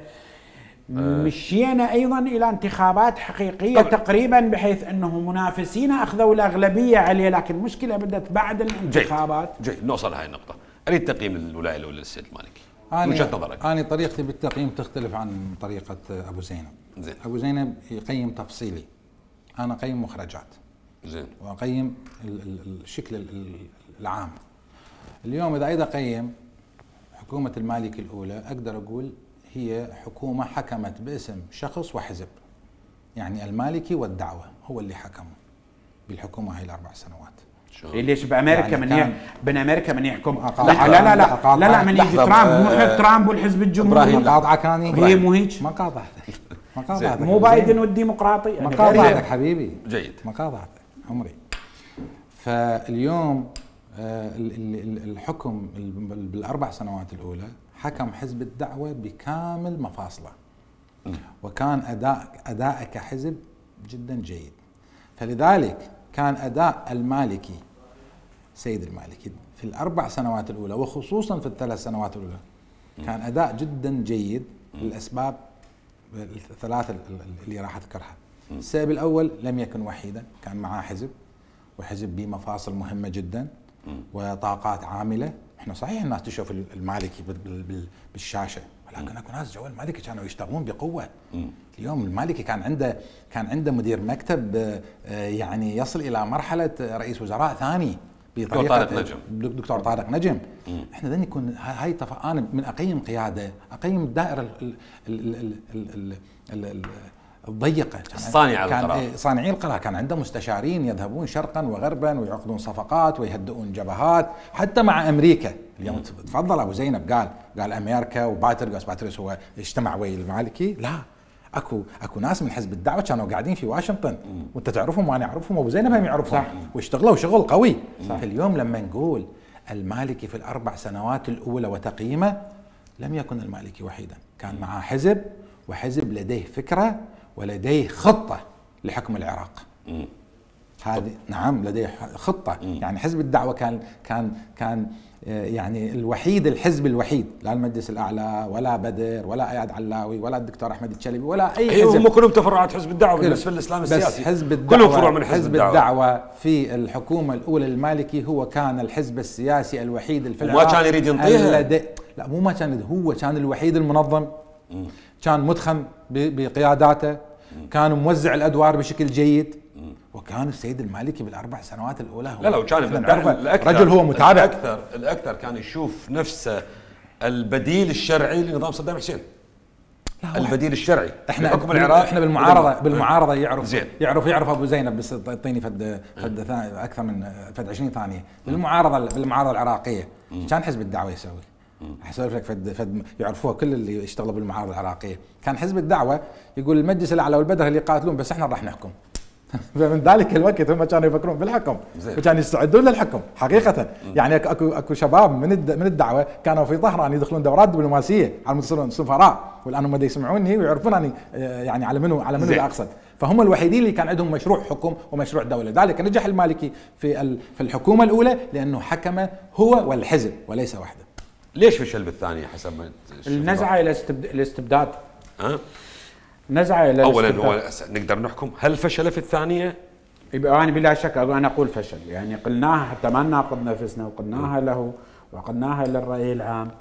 مشينا أيضا إلى انتخابات حقيقية طبعا. تقريبا بحيث أنه منافسينا أخذوا الأغلبية عليه، لكن المشكلة بدأت بعد الانتخابات. جيد, جيد. نوصل لهي النقطة. أريد تقييم الولاية الأولى للسيد المالكي من وجهة نظرك. أنا طريقتي بالتقييم تختلف عن طريقة أبو زينب. زين. أبو زينب يقيم تفصيلي، أنا أقيم مخرجات. زين. وأقيم الشكل العام. اليوم إذا أريد أقيم حكومة المالكي الأولى أقدر أقول هي حكومة حكمت باسم شخص وحزب، يعني المالكي والدعوة هو اللي حكموا بالحكومة هاي الأربع سنوات. ليش بأمريكا يعني من ي... بين أمريكا من يحكم؟ لا لا لا لا لا, لا, لا من يجي ترامب، مو ترامب والحزب الجمهوري. مقاطعة كاني هي مو هيك؟ ما قاطعتك ما قاطعتك مو بايدن والديمقراطي، ما قاطعتك حبيبي. جيد. ما قاطعتك عمري. فاليوم الحكم بالأربع سنوات الأولى حكم حزب الدعوة بكامل مفاصله، وكان أداء أداء كحزب جدا جيد. فلذلك كان أداء المالكي سيد المالكي في الأربع سنوات الأولى وخصوصا في الثلاث سنوات الأولى كان أداء جدا جيد للأسباب الثلاثة اللي راح أذكرها. السبب الأول لم يكن وحيدا، كان معاه حزب، وحزب بمفاصل مهمة جدا وطاقات عاملة. احنا صحيح الناس تشوف المالكي بالشاشة، ولكن اكو ناس جوا المالكي كانوا يشتغلون بقوة. اليوم المالكي كان عنده كان عنده مدير مكتب يعني يصل الى مرحلة رئيس وزراء ثاني بطريقة طارق نجم. دكتور طارق نجم. مم. احنا ذني يكون هاي تف... انا من اقيم قيادة اقيم الدائرة ال ال ال ال ال ال الضيقة، صانع القرار، صانعي القرار كان عنده مستشارين يذهبون شرقا وغربا ويعقدون صفقات ويهدئون جبهات حتى مع امريكا. اليوم تفضل ابو زينب قال قال امريكا وباتريوس باتريوس هو اجتمع ويا المالكي، لا اكو اكو ناس من حزب الدعوه كانوا قاعدين في واشنطن وانت تعرفهم وانا اعرفهم وابو زينب هم يعرفهم واشتغلوا شغل قوي. فاليوم لما نقول المالكي في الاربع سنوات الاولى وتقييمه، لم يكن المالكي وحيدا، كان معه حزب، وحزب لديه فكره ولديه خطة لحكم العراق. هذه نعم لديه خطة. مم. يعني حزب الدعوة كان كان كان يعني الوحيد، الحزب الوحيد، لا المجلس الأعلى ولا بدر ولا اياد علاوي ولا الدكتور احمد الشلبي ولا اي حزب. هم كلهم تفرعات حزب الدعوة بالنسبة للإسلام السياسي. بس حزب الدعوة كلهم فروع من حزب, حزب الدعوة. الدعوة في الحكومة الأولى المالكي هو كان الحزب السياسي الوحيد في العراق. وما كان يريد ينطيها. لا مو ما كان، هو كان الوحيد المنظم. مم. كان متخم بقياداته، كان موزع الادوار بشكل جيد، وكان السيد المالكي بالاربع سنوات الاولى لا لا وكان الأكثر رجل هو متابع الاكثر الاكثر كان يشوف نفسه البديل الشرعي لنظام صدام حسين. البديل الشرعي احنا حكم العراق احنا بالمعارضه بالمعارضه يعرف زين. يعرف يعرف ابو زينب بس يعطيني فد فد اكثر من فد عشرين ثانيه بالمعارضه بالمعارضه العراقيه كان حزب الدعوه يسوي. احسب لك فد فد يعرفوها كل اللي يشتغلوا بالمعارضه العراقيه. كان حزب الدعوه يقول المجلس الاعلى والبدر اللي يقاتلون بس احنا راح نحكم. فمن ذلك الوقت هم كانوا يفكرون بالحكم وكانوا يستعدون للحكم حقيقه. يعني اكو اكو شباب من من الدعوه كانوا في طهران يدخلون دورات دبلوماسيه على يصيرون سفراء والان هم يسمعوني ويعرفون اني يعني على منو على منو اللي اقصد. فهم الوحيدين اللي كان عندهم مشروع حكم ومشروع دوله. ذلك نجح المالكي في في الحكومه الاولى لانه حكم هو والحزب وليس وحده. ليش فشل بالثانيه حسب ما النزعه الى الاستبداد؟ ها نزعه الى اولا هو نقدر نحكم هل فشل في الثانيه؟ يبقى انا بلا شك انا اقول فشل. يعني قلناها حتى ما نناقض نفسنا وقلناها له وقلناها للراي العام.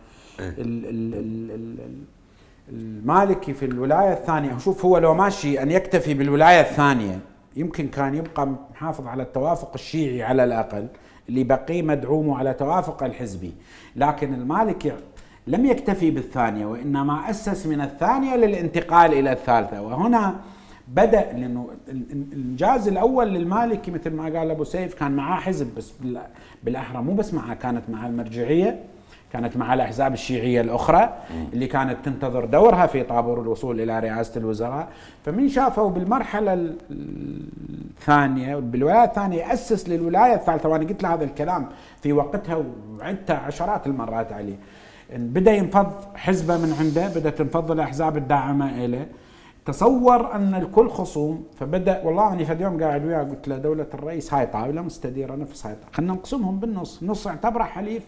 ال ال ال المالكي في الولايه الثانيه شوف هو لو ماشي ان يكتفي بالولايه الثانيه يمكن كان يبقى محافظ على التوافق الشيعي على الاقل اللي بقي مدعومه على توافق الحزبي. لكن المالكي لم يكتفي بالثانية وإنما أسس من الثانية للانتقال إلى الثالثة. وهنا بدأ لأنه الإنجاز الأول للمالكي مثل ما قال أبو سيف كان معاه حزب بس بالأحرى مو بس معاه كانت مع المرجعية كانت مع الأحزاب الشيعية الأخرى اللي كانت تنتظر دورها في طابور الوصول إلى رئاسة الوزراء. فمن شافوا بالمرحلة الثانية بالولاية الثانية أسس للولاية الثالثة. وأنا قلت له هذا الكلام في وقتها وعدته عشرات المرات عليه. بدأ ينفض حزبه من عنده بدأ تنفض الأحزاب الداعمة إليه. تصور أن الكل خصوم فبدأ والله أنا في اليوم قاعد وياه قلت له دولة الرئيس هاي طاولة مستديرة نفس هاي خلنا نقسمهم بالنص نص اعتبره حليف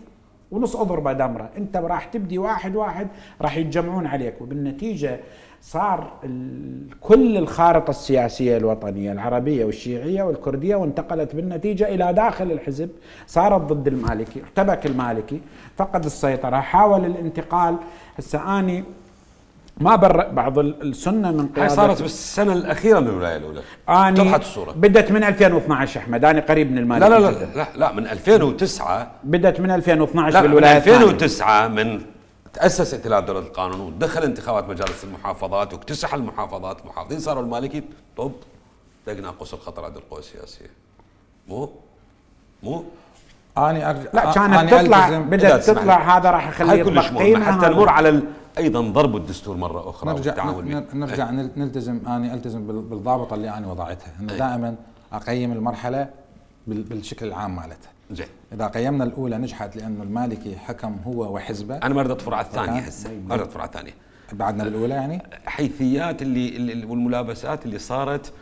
ونص اضربه دمره. انت راح تبدي واحد واحد راح يتجمعون عليك. وبالنتيجة صار كل الخارطة السياسية الوطنية العربية والشيعية والكردية وانتقلت بالنتيجة إلى داخل الحزب صارت ضد المالكي. ارتبك المالكي فقد السيطرة حاول الانتقال. هسه اني ما برأ بعض السنة من قيادة هاي صارت بالسنة الأخيرة من الولاية الأولى. اني اتضحت الصورة بدت من ألفين واثناشر أحمد أنا قريب من المالكي. لا لا لا لا, لا من ألفين وتسعة بدت من ألفين واثناشر بالولاية الثانية. ألفين وتسعة من تأسس ائتلاف دولة القانون ودخل انتخابات مجالس المحافظات واكتسح المحافظات المحافظين صاروا المالكي طب دقنا قوس الخطر عند القوى السياسية. مو مو اني ارجع لا كانت تطلع بدات تطلع هذا راح يخليه يطلق قيمه حتى نمر على ال... ايضا ضرب الدستور مره اخرى نرجع نرجع نلتزم اني التزم بالضابطه اللي انا وضعتها انه دائما اقيم المرحله بالشكل العام مالتها. زين اذا قيمنا الاولى نجحت لانه المالكي حكم هو وحزبه. انا ما اريد اطفر على الثانيه هسه ما اريد اطفر على الثانيه بعدنا بالاولى يعني حيثيات اللي, اللي والملابسات اللي صارت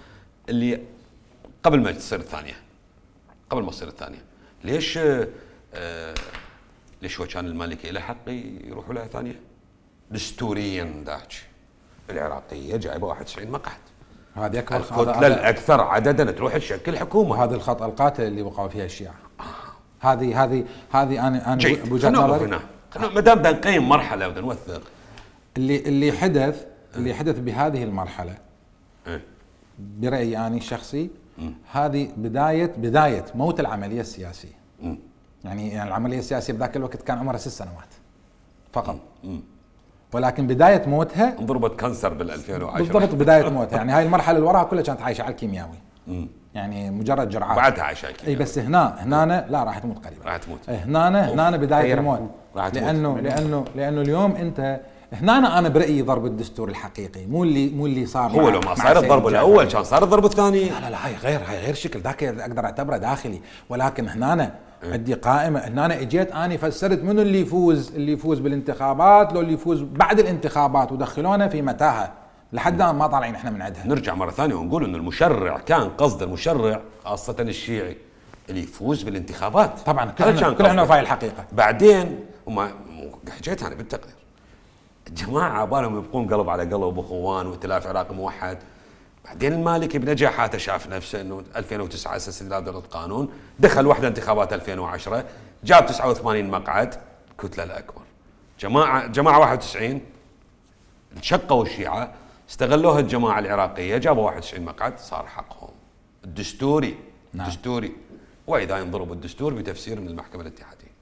اللي قبل ما تصير الثانيه قبل ما تصير الثانيه. ليش آه ليش هو كان المالكي له حق يروح ولايه ثانيه؟ دستوريا ذاك العراقيه جايبه واحد وتسعين مقعد. هذه اكبر الكتله الاكثر عددا تروح تشكل حكومه. هذا الخطا القاتل اللي وقعوا فيها الشيعه. هذه هذه هذه انا انا بوجهه نظري ما دام بدنا نقيم مرحله بدنا نوثق اللي اللي حدث اللي حدث بهذه المرحله اه. برايي انا الشخصي هذه بدايه بدايه موت العمليه السياسيه. م. يعني يعني العمليه السياسيه بذاك الوقت كان عمرها ست سنوات فقط. م. ولكن بدايه موتها انضربت كانسر بال ألفين وعشرة بالضبط بدايه موتها. يعني هاي المرحله اللي وراها كلها كانت عايشه على الكيمياوي. م. يعني مجرد جرعات بعدها عايشه على الكيمياوي. اي بس هنا هنا لا راح تموت قريبا. راح تموت هنا هنا بدايه الموت. لانه لانه لانه اليوم انت هنا انا برايي ضرب الدستور الحقيقي مو اللي مو اللي صار. هو لو ما صار الضرب الاول كان صار الضرب الثاني. لا لا لا هاي غير هاي غير شكل ذاك اقدر اعتبره داخلي. ولكن هنا أنا عندي قائمه هنا أنا اجيت اني فسرت منو اللي يفوز اللي يفوز بالانتخابات لو اللي يفوز بعد الانتخابات ودخلونا في متاهه لحد ما طالعين احنا من عندها. نرجع مره ثانيه ونقول انه المشرع كان قصد المشرع خاصه الشيعي اللي يفوز بالانتخابات. طبعا كلنا كلنا في الحقيقه. بعدين وما حكيت انا بالتقرير الجماعه بالهم يبقون قلب على قلب واخوان وائتلاف عراقي موحد. بعدين المالكي بنجاحاته شاف نفسه انه ألفين وتسعة اسس ائتلاف دولة القانون دخل وحده انتخابات ألفين وعشرة جاب تسعة وثمانين مقعد كتله الاكبر. جماعه جماعه واحد وتسعين شقوا الشيعه استغلوها الجماعه العراقيه جابوا واحد وتسعين مقعد صار حقهم. الدستوري نعم. الدستوري واذا ينضرب الدستور بتفسير من المحكمه الاتحاديه.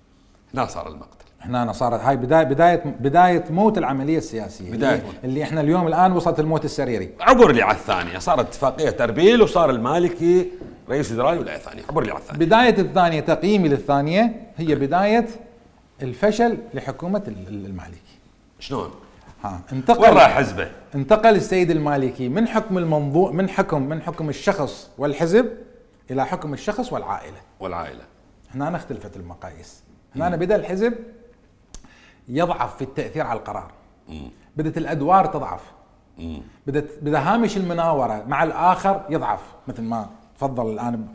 هنا صار المقتل. هنا صارت هاي بدايه بدايه بدايه موت العمليه السياسيه بداية اللي, موت. اللي احنا اليوم الان وصلت الموت السريري. عبر لي على الثانيه، صارت اتفاقيه اربيل وصار المالكي رئيس وزراء الولايه الثانيه، عبر لي على الثانيه. بدايه الثانيه، تقييمي للثانيه هي بدايه الفشل لحكومه المالكي. شلون؟ ها انتقل وين راح حزبه؟ انتقل السيد المالكي من حكم المنظور من حكم من حكم الشخص والحزب الى حكم الشخص والعائله. والعائله. هنا اختلفت المقاييس. هنا بدا الحزب يضعف في التاثير على القرار. مم. بدت الادوار تضعف. مم. بدت بدا هامش المناوره مع الاخر يضعف، مثل ما تفضل الان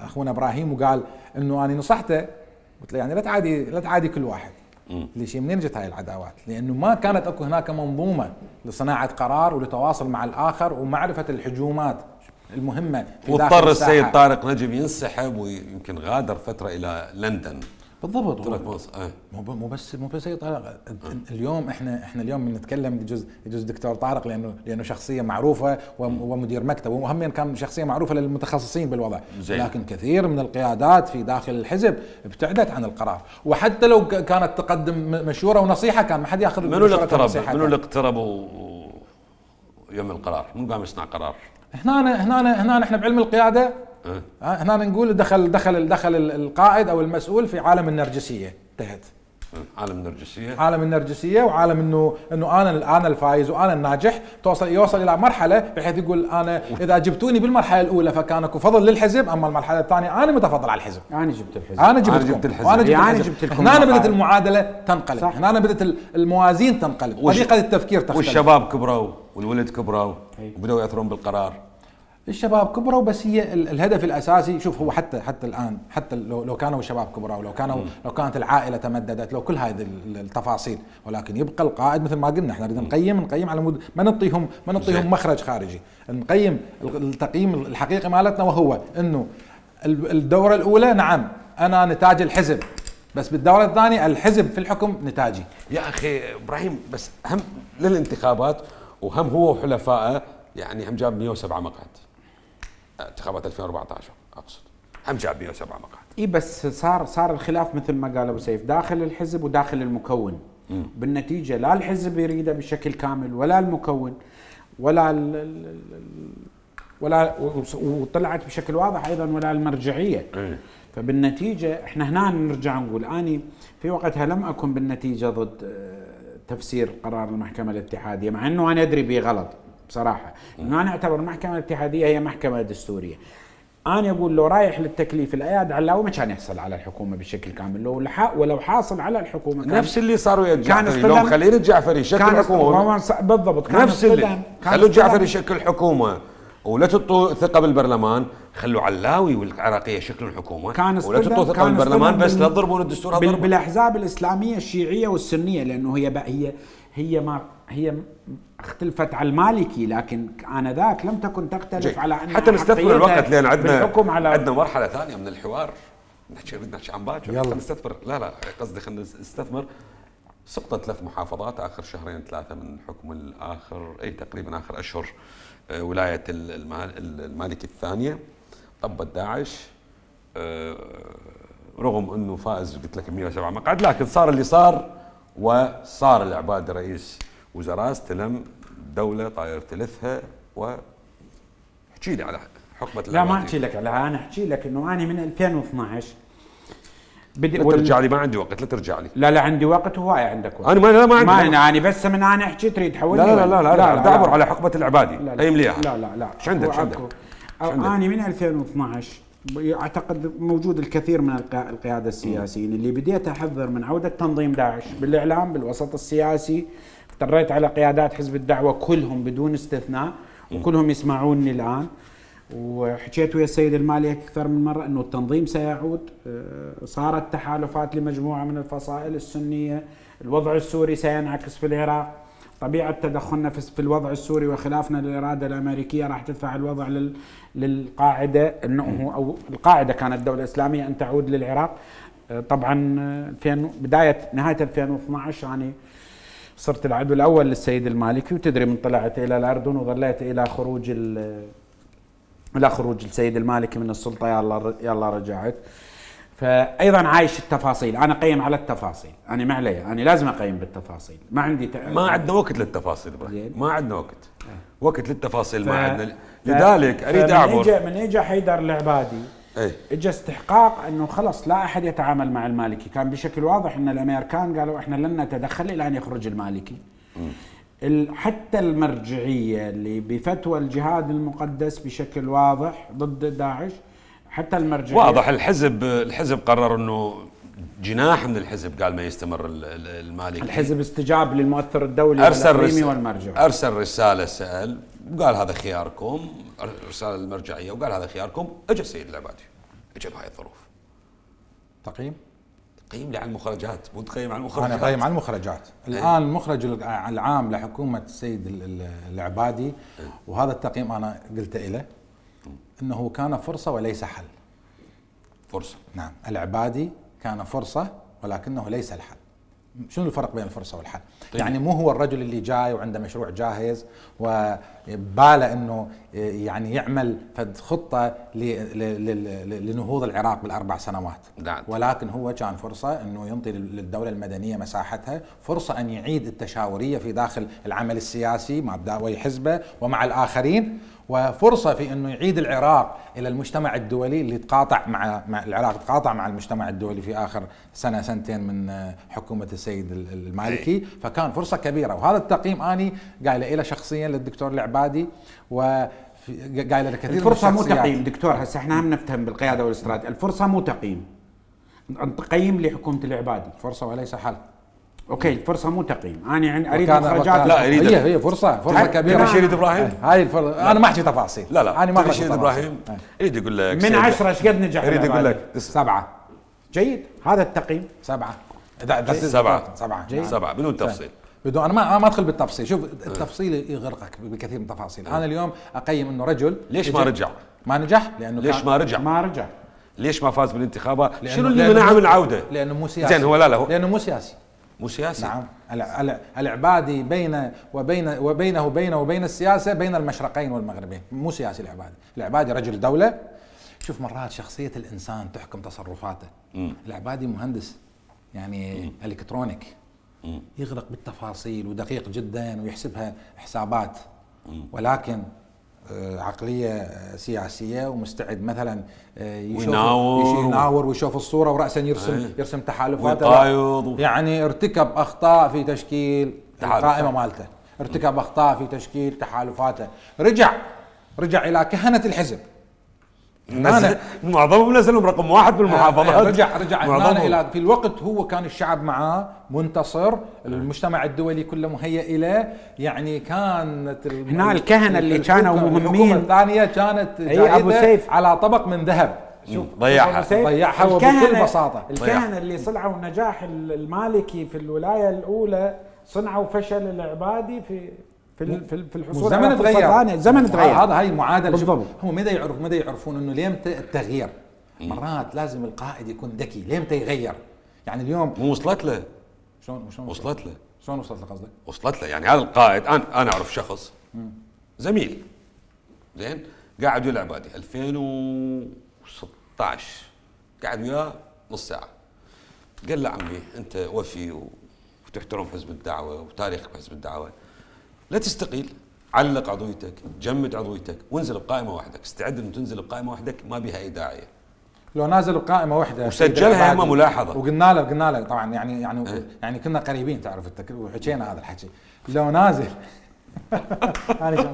اخونا ابراهيم وقال انه انا نصحته، قلت له يعني لا تعادي لا تعادي كل واحد. ليش؟ منين جت هاي العداوات؟ لانه ما كانت اكو هناك منظومه لصناعه قرار ولتواصل مع الاخر ومعرفه الهجومات المهمه في داخل واضطر الساحة. السيد طارق نجم ينسحب ويمكن غادر فتره الى لندن. بالضبط. ترك مصر. اه. مو مو بس مو بس طارق. اليوم احنا احنا اليوم بنتكلم يجوز يجوز دكتور طارق لانه لانه شخصيه معروفه ومدير مكتب، وهم كان شخصيه معروفه للمتخصصين بالوضع. زي. لكن كثير من القيادات في داخل الحزب ابتعدت عن القرار، وحتى لو كانت تقدم مشوره ونصيحه كان ما حد ياخذ. منو اللي اقترب؟ منو اللي اقتربوا يوم القرار؟ منو قام يصنع قرار؟ هنا هنا هنا احنا بعلم القياده أه؟ هنا نقول دخل دخل دخل القائد او المسؤول في عالم النرجسيه، انتهت. عالم النرجسيه. عالم النرجسيه وعالم انه انه انا انا الفايز وانا الناجح، توصل يوصل الى مرحله بحيث يقول انا اذا جبتوني بالمرحله الاولى فكان اكو فضل للحزب، اما المرحله الثانيه انا متفضل على الحزب. انا جبت الحزب. انا جبت, أنا جبت الحزب. وانا جبت يعني الحزب. جبت لكم هنا بدت المعادله تنقلب، صح. هنا بدت الموازين تنقلب، طريقه التفكير تختلف. والشباب كبروا والولد كبروا وبداوا ياثرون بالقرار. الشباب كبروا، بس هي الهدف الاساسي، شوف هو حتى حتى الان حتى لو لو كانوا الشباب كبروا، لو كانوا لو كانت العائله تمددت، لو كل هذه التفاصيل، ولكن يبقى القائد مثل ما قلنا احنا نريد نقيم نقيم على مود ما نعطيهم ما نعطيهم مخرج خارجي، نقيم التقييم الحقيقي مالتنا، وهو انه الدوره الاولى نعم انا نتاج الحزب، بس بالدوره الثانيه الحزب في الحكم نتاجي. يا اخي ابراهيم بس هم للانتخابات وهم هو وحلفائه، يعني هم جاب مئة وسبعة مقعد انتخابات ألفين وأربعة عشر، اقصد هم جاب مئة وسبعة مقعد. اي بس صار صار الخلاف مثل ما قال ابو سيف داخل الحزب وداخل المكون. م. بالنتيجه لا الحزب يريده بشكل كامل ولا المكون ولا ال ال ولا وطلعت بشكل واضح ايضا ولا المرجعيه. م. فبالنتيجه احنا هنا نرجع نقول اني في وقتها لم اكن بالنتيجه ضد تفسير قرار المحكمه الاتحاديه، مع انه انا ادري به غلط بصراحه، انه انا اعتبر المحكمه الاتحاديه هي محكمه دستوريه. انا اقول لو رايح للتكليف الاياد علاوي ما كان يحصل على الحكومه بشكل كامل، لو لحق ولو حاصل على الحكومه كان نفس اللي صار ويا الجعفري، لو خلينا الجعفري يشكل حكومه بالضبط، كان نفس اللي خلوا الجعفري يشكل حكومه ولا تعطوا ثقه بالبرلمان، خلوا علاوي والعراقيه يشكلوا الحكومه ولا تعطوا ثقه بالبرلمان، بس لا تضربون الدستور هذا. بالاحزاب الاسلاميه الشيعيه والسنيه، لانه هي هي هي ما هي اختلفت على المالكي، لكن آنذاك لم تكن تختلف جي. على أن حتى نستثمر الوقت، لأن عندنا على عندنا مرحلة ثانية من الحوار نحكي بدنا نحكي عن باكر. يلا نستثمر، لا لا قصدي خلينا نستثمر. سقطت ثلاث محافظات آخر شهرين ثلاثة من حكم الآخر أي تقريبا آخر أشهر ولاية المالكي الثانية طبت داعش، رغم أنه فائز قلت لك مئة وسبعة مقعد، لكن صار اللي صار، وصار العبادي رئيس وزراء، استلم دولة طاير ثلثها. واحكي لي على حقبة لا ما احكي لك عليها، انا احكي لك انه انا من ألفين واثناشر بدي لا ترجع لي، ما عندي وقت، لا ترجع لي. لا لا عندي وقت وهواي عندك وقت. انا ما لا ما عندي ما انا يعني بس من انا احكي تريد تحولني. لا لا لا لا, لا, لا دعبر على حقبة العبادي. لا لا لا لا لا لا ايش عندك؟ ايش عندك؟ انا من ألفين واثناشر اعتقد موجود الكثير من القياده السياسيين اللي بديت احذر من عوده تنظيم داعش بالاعلام بالوسط السياسي، اضطريت على قيادات حزب الدعوه كلهم بدون استثناء وكلهم يسمعوني الان، وحكيت ويا السيد المالي اكثر من مره انه التنظيم سيعود، صارت تحالفات لمجموعه من الفصائل السنيه، الوضع السوري سينعكس في العراق، طبيعه تدخلنا في الوضع السوري وخلافنا للاراده الامريكيه راح تدفع الوضع لل للقاعده انه او القاعده كانت الدوله الاسلاميه ان تعود للعراق. طبعا في بدايه نهايه ألفين واثناشر يعني صرت العدو الاول للسيد المالكي، وتدري من طلعت الى الاردن وظليت الى خروج الى خروج السيد المالكي من السلطه يلا يلا رجعت. فايضا عايش التفاصيل، انا قيم على التفاصيل، انا ما علي، انا لازم اقيم بالتفاصيل، ما عندي ت... ما عندنا وقت للتفاصيل ابراهيم، ما عندنا وقت اه. وقت للتفاصيل ف... ما عندنا، لذلك اريد اعبر. من اجى من اجى حيدر العبادي ايه؟ اجى استحقاق انه خلص لا احد يتعامل مع المالكي، كان بشكل واضح ان الامريكان قالوا احنا لن نتدخل الى ان يخرج المالكي. م. حتى المرجعيه اللي بفتوى الجهاد المقدس بشكل واضح ضد داعش، حتى المرجعيه واضح. الحزب الحزب قرر انه جناح من الحزب قال ما يستمر المالكي. الحزب استجاب للمؤثر الدولي والإقليمي والمرجع، ارسل رساله سال وقال هذا خياركم، رساله المرجعيه وقال هذا خياركم. اجى السيد العبادي، اجى بهاي الظروف. تقييم؟ تقييم لي على المخرجات، مو تقيم على المخرجات. انا اقيم على المخرجات. الان المخرج العام لحكومه السيد العبادي، وهذا التقييم انا قلت له انه كان فرصه وليس حل. فرصه. نعم، العبادي كان فرصه ولكنه ليس الحل. شنو الفرق بين الفرصه والحل؟ طيب. يعني مو هو الرجل اللي جاي وعنده مشروع جاهز وباله انه يعني يعمل فد خطه لنهوض العراق بالاربع سنوات. نعم. ولكن هو كان فرصه انه ينطي للدوله المدنيه مساحتها، فرصه ان يعيد التشاوريه في داخل العمل السياسي مع دعوي حزبه ومع الاخرين، وفرصه في انه يعيد العراق الى المجتمع الدولي اللي تقاطع مع, مع العراق تقاطع مع المجتمع الدولي في اخر سنه سنتين من حكومه السيد المالكي. فكان فرصه كبيره، وهذا التقييم اني قايله له شخصيا للدكتور العبادي و قايله له كثير. الفرصه مو تقييم دكتور، هسه احنا هم نفتهم بالقياده والاستراتيجيه، الفرصه مو تقييم، تقييم لحكومه العبادي فرصه وليس حل. اوكي الفرصه مو تقييم، انا يعني اريد مخرجات. لا اريد هي هي فرصه فرصه كبيره. شريد ابراهيم هاي الفرصه انا ما احكي تفاصيل. لا لا انا ما احكي شريد ابراهيم اريد اقول لك من عشرة ايش قد نجح؟ اريد اقول لك سبعه. جيد، هذا التقييم سبعه. سبعه سبعه جيد. سبعه بدون تفصيل. بدون انا ما ما ادخل بالتفصيل. شوف التفصيل يغرقك بكثير من التفاصيل. انا اليوم اقيم انه رجل ليش ما رجع؟ ما نجح لانه ليش ما رجع؟ ما رجع ليش ما فاز بالانتخابات؟ شنو اللي منعه من العوده؟ لانه مو سياسي. زين هو لا لا هو لانه مو سياسي. مو سياسي. نعم. العبادي بين وبين وبينه وبينه وبين السياسه بين المشرقين والمغربين، مو سياسي العبادي. العبادي رجل دوله. شوف مرات شخصيه الانسان تحكم تصرفاته. مم. العبادي مهندس يعني مم. الكترونيك، مم. يغرق بالتفاصيل ودقيق جدا ويحسبها حسابات، مم. ولكن عقليه سياسيه ومستعد مثلا يشوف يناور, يناور ويشوف الصوره وراسا يرسم أيه. يرسم تحالفات يعني ارتكب اخطاء في تشكيل القائمه مالته، ارتكب اخطاء في تشكيل تحالفاته، رجع رجع الى كهنه الحزب. أنا معظمهم نزلهم رقم واحد بالمحافظات. رجع رجع الى في الوقت هو كان الشعب معاه منتصر، المجتمع الدولي كله مهيئ له، يعني كانت هنا الكهنه اللي كانوا مهمين. الحكومه الثانيه كانت ابو سيف على طبق من ذهب. شوف ضيعها ضيعها بكل بساطه. الكهنه اللي صنعوا النجاح المالكي في الولايه الاولى صنعوا فشل العبادي في في في الحصول زمن على فرصه ثانيه. الزمن تغير. هذا هاي المعادله. هم متى يعرف متى يعرفون انه ليمتى التغيير؟ مرات لازم القائد يكون ذكي، ليمتى يغير؟ يعني اليوم مو وصلت له. شلون شلون وصلت له؟ شلون وصلت له قصدك؟ وصلت له يعني هذا القائد انا انا اعرف شخص مم. زميل زين قاعد ويا العبادي ألفين وستة عشر قاعد وياه نص ساعه، قال له عمي انت وفي وتحترم حزب الدعوه وتاريخك بحزب الدعوه، لا تستقيل، علق عضويتك، جمد عضويتك وانزل بقائمه وحدك، استعد ان تنزل بقائمه وحدك ما بها اي داعيه. لو نازل بقائمه واحده وسجلها يما ملاحظه وقلنا له قلنا له طبعا يعني يعني اه. يعني كنا قريبين تعرف وحكينا هذا الحكي. لو نازل انا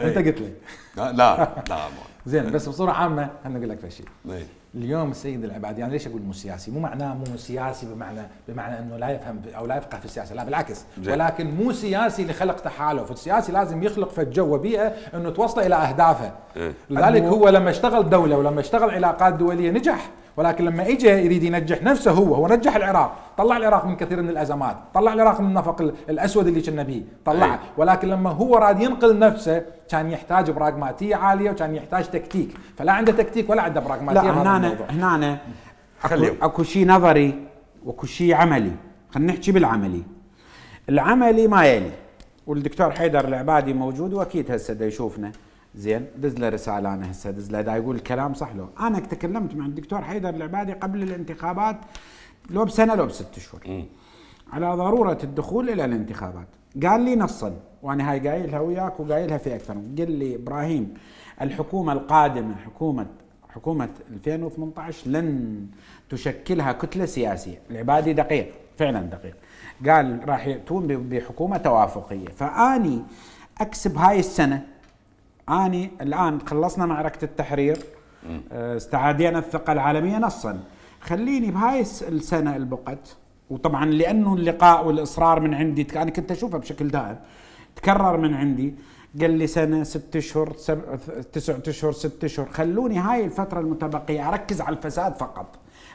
انت قلت لي لا لا لا زين بس بصوره عامه خليني اقول لك شيء. اليوم السيد العبادي يعني ليش اقول مو سياسي؟ مو معناه مو سياسي بمعنى بمعنى انه لا يفهم او لا يفقه في السياسه، لا بالعكس، ولكن مو سياسي لخلق تحالف، السياسي لازم يخلق في الجو وبيئه انه توصل الى اهدافه. لذلك هو لما اشتغل دوله ولما اشتغل علاقات دوليه نجح، ولكن لما اجى يريد ينجح نفسه هو هو نجح العراق، طلع العراق من كثير من الازمات، طلع العراق من النفق الاسود اللي كنا بيه، طلعه، ولكن لما هو راد ينقل نفسه كان يحتاج براغماتيه عاليه وكان يحتاج تكتيك، فلا عنده تكتيك ولا عنده براغماتيه. لا هنا هنا اكو, أكو شيء نظري واكو شيء عملي، خلينا نحكي بالعملي. العملي ما يلي، والدكتور حيدر العبادي موجود واكيد هسه دا يشوفنا، زين دز له رساله انا هسه دز له دا يقول الكلام صح له. انا تكلمت مع الدكتور حيدر العبادي قبل الانتخابات لو بسنه لو بست اشهر على ضروره الدخول الى الانتخابات. قال لي نصا وانا هاي قايلها وياك وقايلها في اكثر، قال لي ابراهيم الحكومه القادمه حكومه حكومه ألفين وثمانية عشر لن تشكلها كتله سياسيه. العبادي دقيق فعلا دقيق، قال راح ياتون بحكومه توافقيه. فاني اكسب هاي السنه، اني الان خلصنا معركه التحرير، استعادينا الثقه العالميه نصا، خليني بهاي السنه البقت. وطبعا لانه اللقاء والاصرار من عندي انا كنت اشوفه بشكل دائم تكرر من عندي، قال لي سنه ست اشهر تسعة اشهر ست اشهر، خلوني هاي الفتره المتبقيه اركز على الفساد فقط،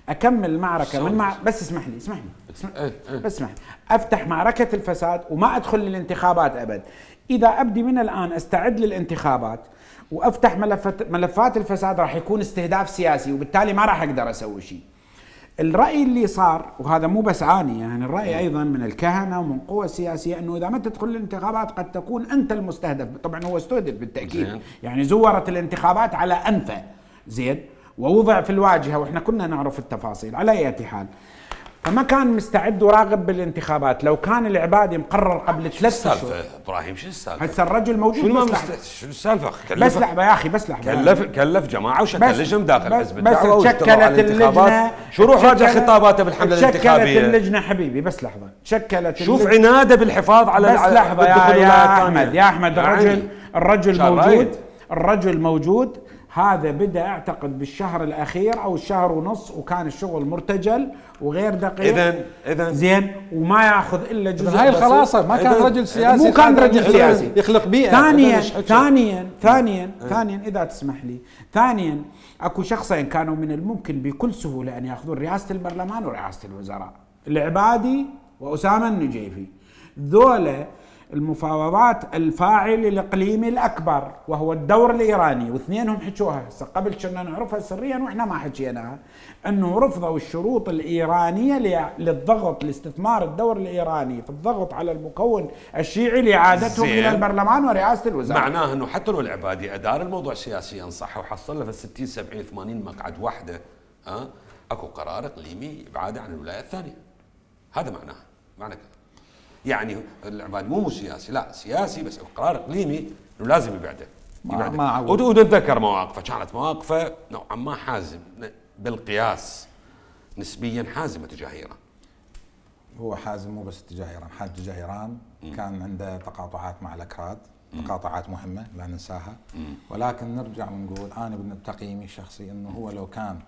اكمل المعركه من مع... بس اسمح لي اسمح لي اسمح... بس اسمح لي افتح معركه الفساد وما ادخل للانتخابات ابد. اذا ابدي من الان استعد للانتخابات وافتح ملفات ملفات الفساد راح يكون استهداف سياسي، وبالتالي ما راح اقدر اسوي شيء. الرأي اللي صار، وهذا مو بس اني يعني الرأي ايضا من الكهنة ومن قوى سياسية، انه اذا ما تدخل الانتخابات قد تكون انت المستهدف. طبعا هو استهدف بالتأكيد زين. يعني زورت الانتخابات على انفه زين ووضع في الواجهة، واحنا كنا نعرف التفاصيل على اي حال. فما كان مستعد وراغب بالانتخابات. لو كان العبادي مقرر قبل ثلاث اشهر. ابراهيم شو السالفه؟ هسه الرجل موجود. شو شو السالفه؟ بس لحظه يا اخي بس لحظه. كلف كلف جماعه وشكل لجنه داخل حزب الدعوه بس شكلت اللجنه. شو روح راجع خطاباته بالحمله الانتخابيه؟ شكلت اللجنه حبيبي بس لحظه. شكلت شوف عناده بالحفاظ على بس لحظه يا, يا احمد يا احمد الرجل الرجل موجود الرجل موجود. هذا بدأ اعتقد بالشهر الاخير او الشهر ونص، وكان الشغل مرتجل وغير دقيق. اذا اذا زين وما ياخذ الا جزء. هاي الخلاصه ما كان رجل سياسي، مو كان رجل سياسي يخلق بيئه. ثانيا ثانيا ثانيا ثانيا اذا تسمح لي، ثانيا اكو شخصين كانوا من الممكن بكل سهوله ان ياخذون رئاسه البرلمان ورئاسه الوزراء، العبادي واسامه النجيفي. ذولا المفاوضات الفاعل الاقليمي الاكبر وهو الدور الايراني، واثنينهم حكوها هسه قبل كنا نعرفها سريا واحنا ما حكيناها، انه رفضوا الشروط الايرانيه للضغط لاستثمار الدور الايراني في الضغط على المكون الشيعي لاعادتهم الى البرلمان ورئاسه الوزراء. معناه انه حتى لو العبادي ادار الموضوع سياسيا صح وحصل له في ستين سبعين ثمانين مقعد واحده، ها أه؟ اكو قرار اقليمي ابعاده عن الولايه الثانيه. هذا معناه معنى كذا. يعني العبادي مو مو سياسي، لا سياسي بس قرار اقليمي انه لازم يبعده. يبعده. ونتذكر مواقفه كانت مواقفه نوعا ما حازم بالقياس، نسبيا حازمه تجاه ايران. هو حازم مو بس تجاه ايران، حاز تجاه ايران كان عنده تقاطعات مع الاكراد، تقاطعات مهمه لا ننساها. مم. ولكن نرجع ونقول انا بتقييمي الشخصي انه هو لو كان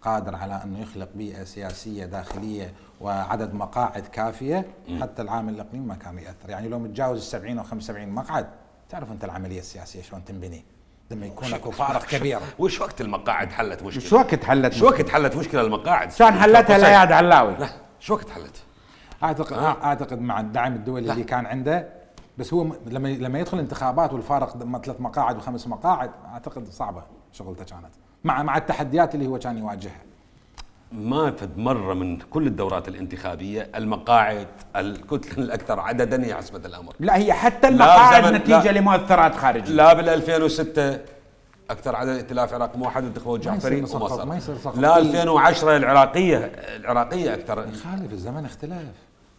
قادر على انه يخلق بيئه سياسيه داخليه وعدد مقاعد كافيه، حتى العامل الاقليمي ما كان ياثر. يعني لو متجاوز السبعين او خمسة وسبعين مقعد، تعرف انت العمليه السياسيه شلون تنبني لما يكون اكو فارق كبير. وش وقت المقاعد حلت مشكله؟ شو وقت حلت؟ شو وقت حلت مشكله المقاعد؟ شلون حلتها الاياد علاوي؟ لا شو وقت حلت؟ اعتقد آه. اعتقد مع الدعم الدولي لا. اللي كان عنده، بس هو لما لما يدخل انتخابات والفارق ثلاث مقاعد وخمس مقاعد، اعتقد صعبه شغلته كانت مع مع التحديات اللي هو كان يواجهها. ما فد مرة من كل الدورات الانتخابية المقاعد الكتلة الأكثر عددا هي حسبة الأمر. لا هي حتى المقاعد نتيجة لا لمؤثرات خارجية. لا بال ألفين وستة أكثر عدد ائتلاف عراق موحد انتخبوا الجعفري وما صار. ما يصير سقط. لا ألفين وعشرة العراقية العراقية أكثر. يخالف الزمن اختلف.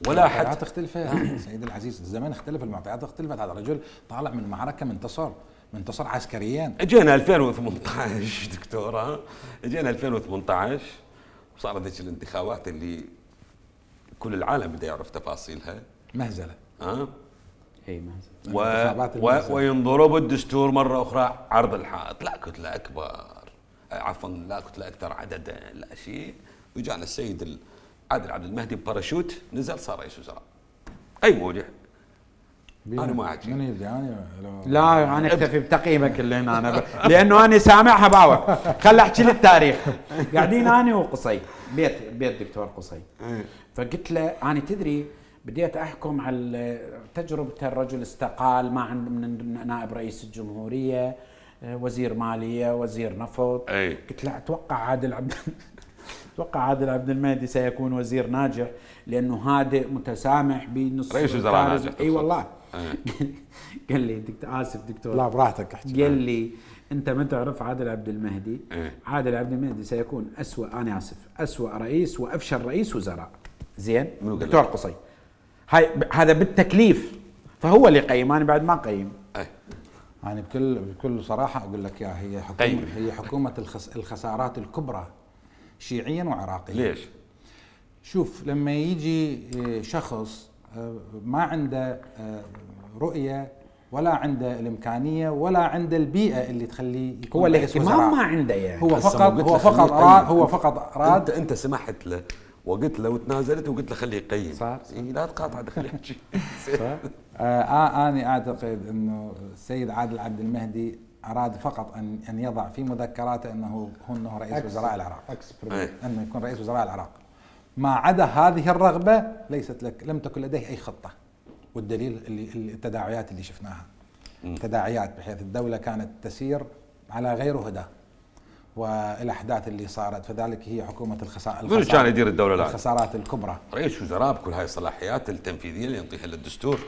ولا حتى المعطيات اختلفت سيدي العزيز، الزمن اختلف، المعطيات اختلفت. هذا الرجل طالع من معركة منتصر منتصر عسكريا. اجينا ألفين وثمانية عشر دكتورة، اجينا ألفين وثمانية عشر وصارت ذيك الانتخابات اللي كل العالم بده يعرف تفاصيلها. مهزله. اه اي مهزله. و... و... وينضرب الدستور مره اخرى عرض الحائط، لا كتله اكبر، عفوا لا كتله اكثر عددا، لا شيء. وجانا السيد عادل عبد المهدي بباراشوت نزل صار رئيس وزراء. اي مودع. انا ما اعجب. من يدري انا لا انا اكتفي بتقييمك اللي هنا انا ب... لانه انا سامعها باور. خل احكي للتاريخ. قاعدين انا وقصي بيت بيت دكتور قصي، فقلت له انا تدري بديت احكم على تجربه الرجل استقال ما عند من نائب رئيس الجمهوريه، وزير ماليه، وزير نفط. أي. قلت له اتوقع عادل عبد اتوقع عادل عبد المهدي سيكون وزير ناجح لانه هادئ متسامح بنص رئيس وزراء ناجح. اي والله قال لي دكتور اسف دكتور لا براحتك احكي. قال لي انت ما تعرف عادل عبد المهدي. إيه؟ عادل عبد المهدي سيكون اسوء، انا اسف، اسوء رئيس وافشل رئيس وزراء. زين دكتور قصي هاي هذا بالتكليف، فهو اللي يقيم، انا بعد ما اقيم. اي يعني بكل بكل صراحه اقول لك يا هي حكومه طيب. هي حكومه الخس الخسارات الكبرى شيعيا وعراقيا. ليش؟ شوف لما يجي شخص ما عنده رؤيه ولا عنده الامكانيه ولا عنده البيئه اللي تخليه يكون هو رئيس الاهتمام وزراء. ما عنده يعني. هو هسه فقط ما قلت هو له فقط خليه أراد يقيم. هو فقط انت اراد انت سمحت له وقلت له وتنازلت وقلت له خليه يقيم. صار. إيه لا تقاطع خليه يحكي. آه انا اعتقد انه السيد عادل عبد المهدي اراد فقط ان ان يضع في مذكراته انه هو انه رئيس وزراء العراق، إيه. انه يكون رئيس وزراء العراق. ما عدا هذه الرغبه ليست لك، لم تكن لديه اي خطه، والدليل اللي اللي- التداعيات اللي شفناها. تداعيات بحيث الدوله كانت تسير على غير هدى، والاحداث اللي صارت، فذلك هي حكومه الخسائر. منو كان يدير الدوله الان؟ الخسارات الكبرى. رئيس وزراء بكل هاي الصلاحيات التنفيذيه اللي ينطيها للدستور.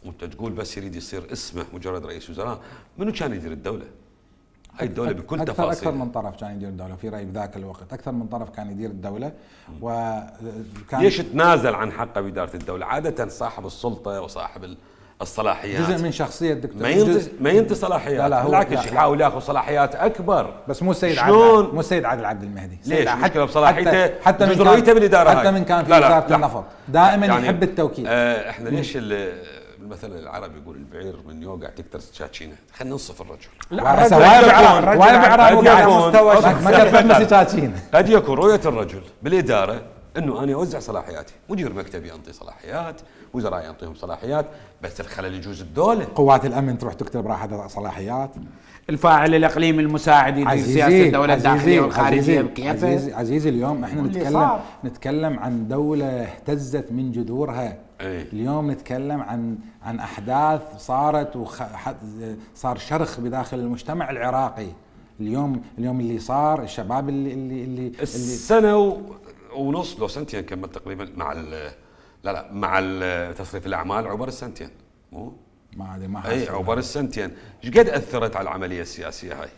وانت تقول بس يريد يصير اسمه مجرد رئيس وزراء، منو كان يدير الدوله؟ هاي الدوله بكل أكثر تفاصيلها. اكثر من طرف كان يدير الدوله في رايي بذاك الوقت، اكثر من طرف كان يدير الدوله وكان ليش تنازل عن حقه باداره الدوله؟ عاده صاحب السلطه وصاحب ال- الصلاحيات جزء من شخصيه الدكتور. ما ينطي جزء- ما ينطي صلاحيات، لا لا هو- بالعكس لا لا. يحاول ياخذ صلاحيات اكبر. بس مو السيد شلون؟ عادل، مو السيد عادل عبد المهدي. ليش؟ سيد المشكلة بصلاحيته، حتى, حتى من جزئيته كان بالإدارة حتى هاي. من كان في لا لا وزاره لا. النفط دائما يعني يحب التوكيد. آه احنا ليش ال- المثل العربي يقول البعير من يوقع تكتر سكاكينه، خلينا ننصف الرجل. لا سواء بعرب قد سواء بعرب يكون- وقاعد قد مستوى يكون- ما كتبنا سكاكين. قد يكون رؤيه الرجل بالاداره انه انا اوزع صلاحياتي، مدير مكتبي انطي صلاحيات، وزراء ينطيهم صلاحيات، بس الخلل يجوز الدوله. قوات الامن تروح تكتب راحه صلاحيات. الفاعل الاقليمي المساعد يدير سياسه الدوله الداخليه والخارجيه بكيفه. عزيزي, عزيزي اليوم احنا واللي نتكلم صار. نتكلم عن دوله اهتزت من جذورها. أي. اليوم نتكلم عن عن احداث صارت وصار شرخ بداخل المجتمع العراقي. اليوم اليوم اللي صار الشباب اللي اللي اللي, اللي السنه و- ونص لو سنتين كمل تقريبا مع ال- لا لا مع ال- تصريف الاعمال عبر السنتين مو؟ ما ادري ما اي حاسس. عبر السنتين، ايش قد اثرت على العمليه السياسيه هاي؟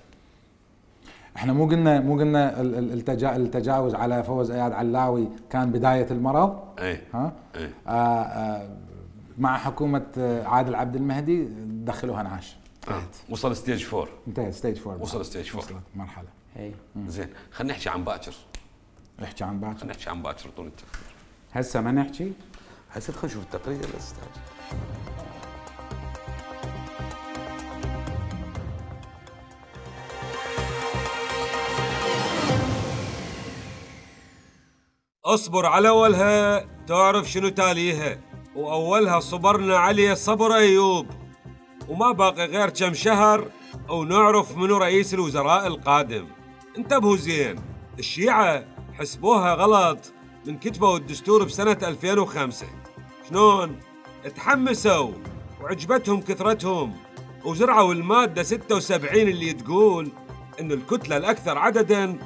احنا مو قلنا مو قلنا ال- ال- التجا التجاوز على فوز اياد علاوي كان بدايه المرض. اي ها اي آه آه مع حكومه آه، عادل عبد المهدي دخلوها انعاش. آه. وصل ستيج فور. انتهت ستيج فور. وصل ستيج فور. وصلت مرحله. إي. زين خلينا نحكي عن باكر، احكي عن باكر. خلينا نحكي عن باكر طول التقرير. هسه ما نحكي. هسه خلينا نشوف التقرير يا استاذ. اصبر على اولها تعرف شنو تاليها، واولها صبرنا عليه صبر ايوب، وما باقي غير كم شهر ونعرف منو رئيس الوزراء القادم. انتبهوا زين، الشيعة حسبوها غلط من كتبوا الدستور بسنة ألفين وخمسة. شلون؟ تحمسوا وعجبتهم كثرتهم وزرعوا المادة ستة وسبعين اللي تقول إن الكتلة الأكثر عدداً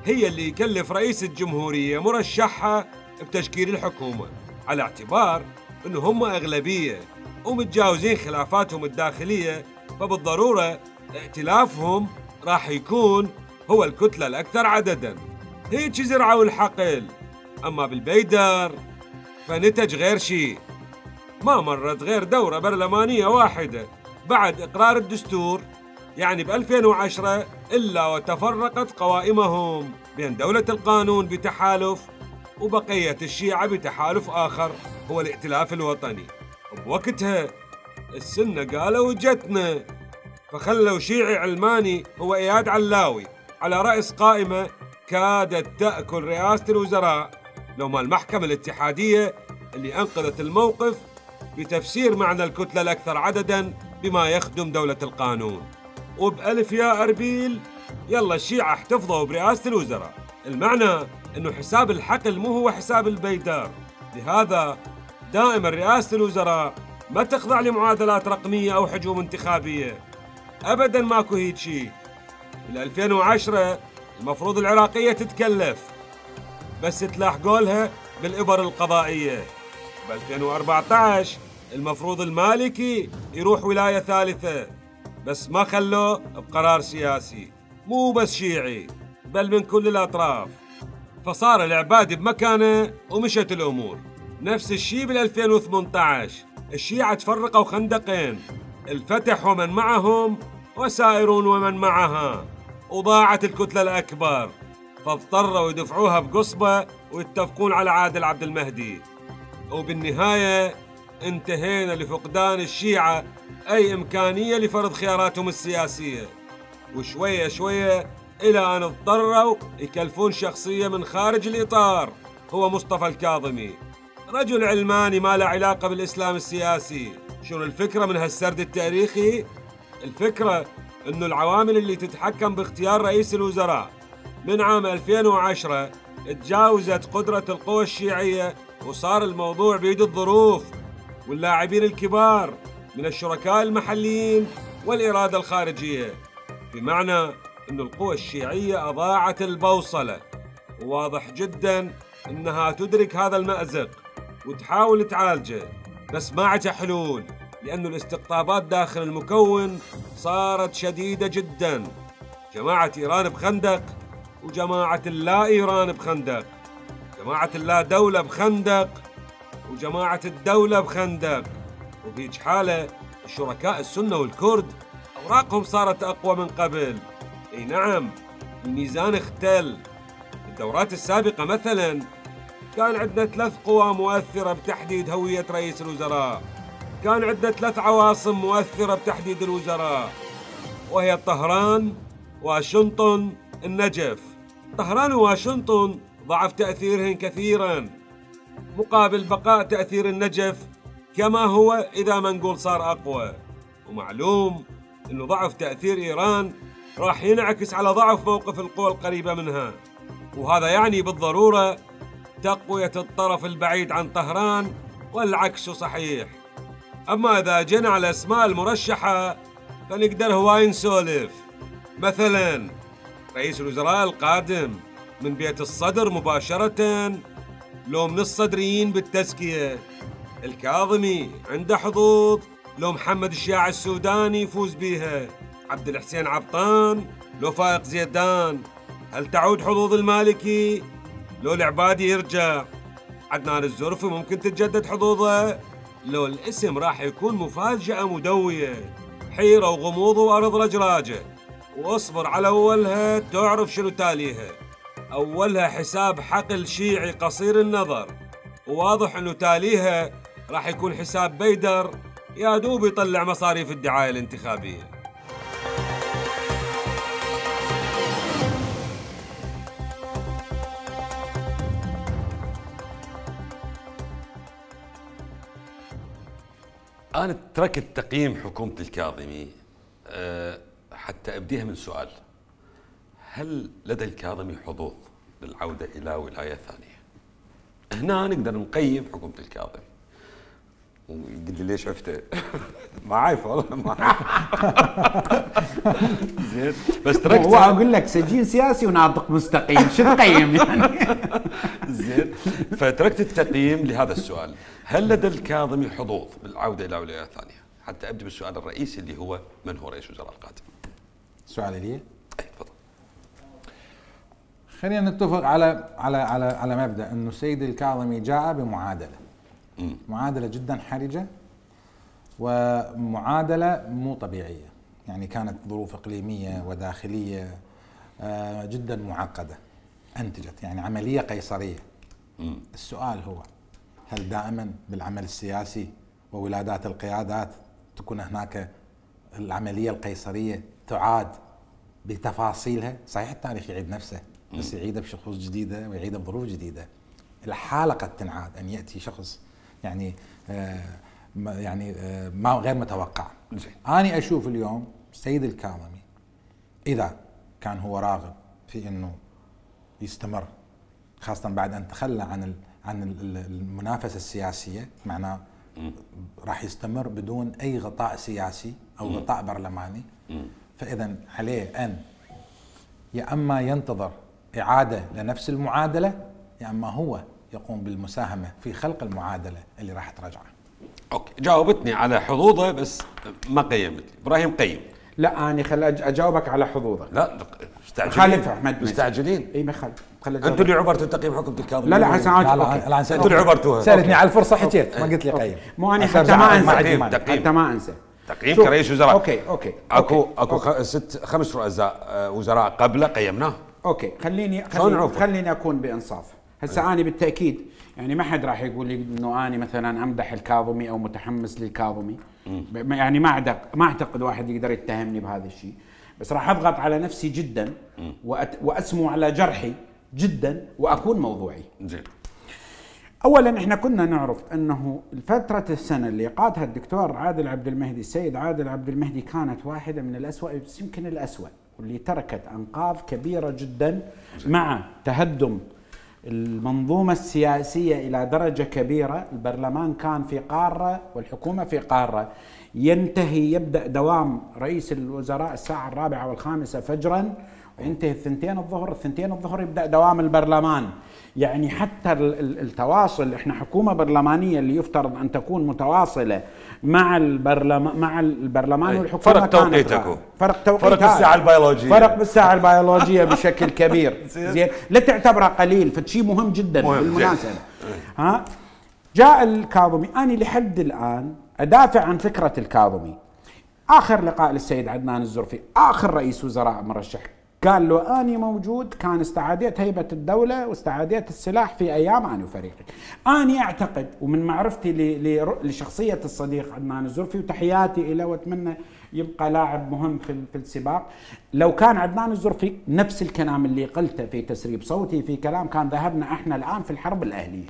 هي اللي يكلف رئيس الجمهورية مرشحها بتشكيل الحكومة، على اعتبار إنه هم أغلبية ومتجاوزين خلافاتهم الداخلية، فبالضرورة ائتلافهم راح يكون هو الكتلة الأكثر عدداً. هيك زرعوا الحقل. أما بالبيدر فنتج غير شيء. ما مرت غير دورة برلمانية واحدة بعد إقرار الدستور، يعني ب ألفين وعشرة، إلا وتفرقت قوائمهم بين دولة القانون بتحالف وبقية الشيعة بتحالف آخر هو الائتلاف الوطني. وبوقتها السنة قالوا جتنا، فخلوا شيعي علماني هو إياد علاوي على رأس قائمة كادت تأكل رئاسة الوزراء، لو ما المحكمة الاتحادية اللي أنقذت الموقف بتفسير معنى الكتلة الأكثر عدداً بما يخدم دولة القانون. وبألف يا أربيل يلا الشيعة احتفظوا برئاسة الوزراء. المعنى أنه حساب الحقل مو هو حساب البيدار، لهذا دائما رئاسة الوزراء ما تخضع لمعادلات رقمية أو حجوم انتخابية، أبدا ماكو هيك شيء. بال ألفين وعشرة المفروض العراقية تتكلف، بس تلاحقوا لها بالإبر القضائية. ب ألفين وأربعة عشر المفروض المالكي يروح ولاية ثالثة، بس ما خلوه بقرار سياسي، مو بس شيعي بل من كل الأطراف. فصار العبادي بمكانه ومشت الأمور. نفس الشيء بال ألفين وثمانية عشر، الشيعة تفرقوا خندقين، الفتح ومن معهم وسائرون ومن معها، وضاعت الكتلة الأكبر، فاضطروا يدفعوها بقصبة ويتفقون على عادل عبد المهدي. وبالنهاية انتهينا لفقدان الشيعة أي إمكانية لفرض خياراتهم السياسية، وشوية شوية إلى أن اضطروا يكلفون شخصية من خارج الإطار، هو مصطفى الكاظمي، رجل علماني ما له علاقة بالإسلام السياسي. شنو الفكرة من هالسرد التاريخي؟ الفكرة إنه العوامل اللي تتحكم باختيار رئيس الوزراء من عام ألفين وعشرة تجاوزت قدرة القوى الشيعية، وصار الموضوع بيد الظروف واللاعبين الكبار من الشركاء المحليين والإرادة الخارجية، بمعنى أن القوى الشيعية أضاعت البوصلة، وواضح جدا أنها تدرك هذا المأزق وتحاول تعالجه، بس ما عندها حلول، لأن الاستقطابات داخل المكون صارت شديدة جدا. جماعة إيران بخندق، وجماعة اللا إيران بخندق، جماعة اللا دولة بخندق، وجماعة الدولة بخندق. وفي حالة الشركاء السنة والكرد أوراقهم صارت أقوى من قبل. أي نعم، الميزان اختل. الدورات السابقة مثلا كان عندنا ثلاث قوى مؤثرة بتحديد هوية رئيس الوزراء، كان عندنا ثلاث عواصم مؤثرة بتحديد الوزراء، وهي طهران، واشنطن، النجف. طهران وواشنطن ضعف تأثيرهن كثيرا، مقابل بقاء تأثير النجف كما هو إذا ما نقول صار أقوى. ومعلوم أنه ضعف تأثير إيران راح ينعكس على ضعف موقف القوى القريبة منها، وهذا يعني بالضرورة تقوية الطرف البعيد عن طهران، والعكس صحيح. أما إذا جينا على الأسماء المرشحة فنقدر هواي نسولف. مثلا رئيس الوزراء القادم من بيت الصدر مباشرة لو من الصدريين بالتزكية؟ الكاظمي عنده حظوظ لو محمد الشياع السوداني يفوز بيها؟ عبد الحسين عبطان لو فائق زيدان؟ هل تعود حظوظ المالكي لو العبادي يرجع؟ عدنان الزرفي ممكن تتجدد حظوظه لو الاسم راح يكون مفاجأة مدوية، حيرة وغموض وأرض رجراجة. واصبر على أولها تعرف شنو تاليها. أولها حساب حقل شيعي قصير النظر، وواضح أنه تاليها راح يكون حساب بيدر يا دوب يطلع مصاريف الدعاية الانتخابية. أنا تركت تقييم حكومة الكاظمي أه حتى أبديها من سؤال: هل لدى الكاظمي حظوظ للعودة إلى ولاية ثانية؟ هنا نقدر نقيم حكومة الكاظمي. ويقول لي ليش عفته؟ ما عارف والله، ما عارف. زين، بس تركت. هو اقول لك سجين سياسي وناطق مستقيم، شو تقيم يعني؟ زين، فتركت التقييم لهذا السؤال: هل لدى الكاظمي حظوظ بالعودة إلى ولاية ثانية؟ حتى أبدأ بالسؤال الرئيسي اللي هو: من هو رئيس الوزراء القادم؟ سؤالي لي؟ أي تفضل. خلينا نتفق على على على على مبدأ انه السيد الكاظمي جاء بمعادلة. م. معادلة جدا حرجة، ومعادلة مو طبيعية، يعني كانت ظروف إقليمية وداخلية جدا معقدة أنتجت يعني عملية قيصرية. م. السؤال هو: هل دائما بالعمل السياسي وولادات القيادات تكون هناك العملية القيصرية تعاد بتفاصيلها؟ صحيح التاريخ يعيد نفسه، بس يعيده بشخوص جديدة ويعيده بظروف جديدة. الحالة قد تنعاد، أن يأتي شخص يعني آه يعني آه ما غير متوقع. أنا أشوف اليوم السيد الكاظمي إذا كان هو راغب في أنه يستمر، خاصة بعد أن تخلى عن عن المنافسة السياسية، معناه راح يستمر بدون أي غطاء سياسي أو غطاء برلماني، فإذا عليه أن يا أما ينتظر إعادة لنفس المعادلة، يا أما هو يقوم بالمساهمة في خلق المعادلة اللي راح ترجعه. اوكي جاوبتني على حظوظه بس ما قيمت لي. ابراهيم قيم. لا انا خل أج- اجاوبك على حظوظه. لا مستعجلين. خالف احمد مستعجلين. اي ما خالف. انتوا اللي عبرتوا تقييم حكم الكاظمي. لا لا هسه لا لا انتوا اللي عبرتوها. سالتني على الفرصه حكيت ما قلت لي قيم. مو انا حتى ما انسى تقييم. حتى ما انسى تقييم كرئيس وزراء. اوكي اوكي اكو اكو خ... ست خمس رؤساء آه، وزراء قبله قيمناه. اوكي خليني شلون خليني, نعرفه؟ خليني اكون بانصاف. هسه انا بالتاكيد يعني ما حد راح يقول لي انه انا مثلا امدح الكاظمي او متحمس للكاظمي. ب- يعني ما اعتقد ما اعتقد واحد يقدر يتهمني بهذا الشيء، بس راح اضغط على نفسي جدا وأت... واسمو على جرحي جدا واكون موضوعي. زين. اولا احنا كنا نعرف انه فتره السنه اللي قادها الدكتور عادل عبد المهدي، السيد عادل عبد المهدي، كانت واحده من الاسوأ، بس يمكن الاسوأ، واللي تركت انقاض كبيره جدا مع تهدم المنظومه السياسيه الى درجه كبيره. البرلمان كان في قاره والحكومه في قاره. ينتهي يبدا دوام رئيس الوزراء الساعه الرابعه والخامسه فجرا وينتهي الثنتين الظهر، الثنتين الظهر يبدا دوام البرلمان. يعني حتى التواصل، احنا حكومه برلمانيه اللي يفترض ان تكون متواصله مع البرلمان مع البرلمان والحكومه. فرق توقيتكم. فرق توقيت فرق بالساعه البيولوجيه. فرق بالساعه البيولوجيه بشكل كبير. زين لا تعتبره قليل، فشيء مهم جدا مهم بالمناسبه. ها جاء الكاظمي، انا لحد الان ادافع عن فكره الكاظمي. اخر لقاء للسيد عدنان الزرفي اخر رئيس وزراء مرشح قال له أني موجود، كان استعاديت هيبة الدولة واستعاديت السلاح في أيام أنا وفريقي. أني أعتقد ومن معرفتي لشخصية الصديق عدنان الزرفي وتحياتي له وأتمنى يبقى لاعب مهم في في السباق، لو كان عدنان الزرفي نفس الكلام اللي قلته في تسريب صوتي في كلام، كان ذهبنا احنا الآن في الحرب الأهلية.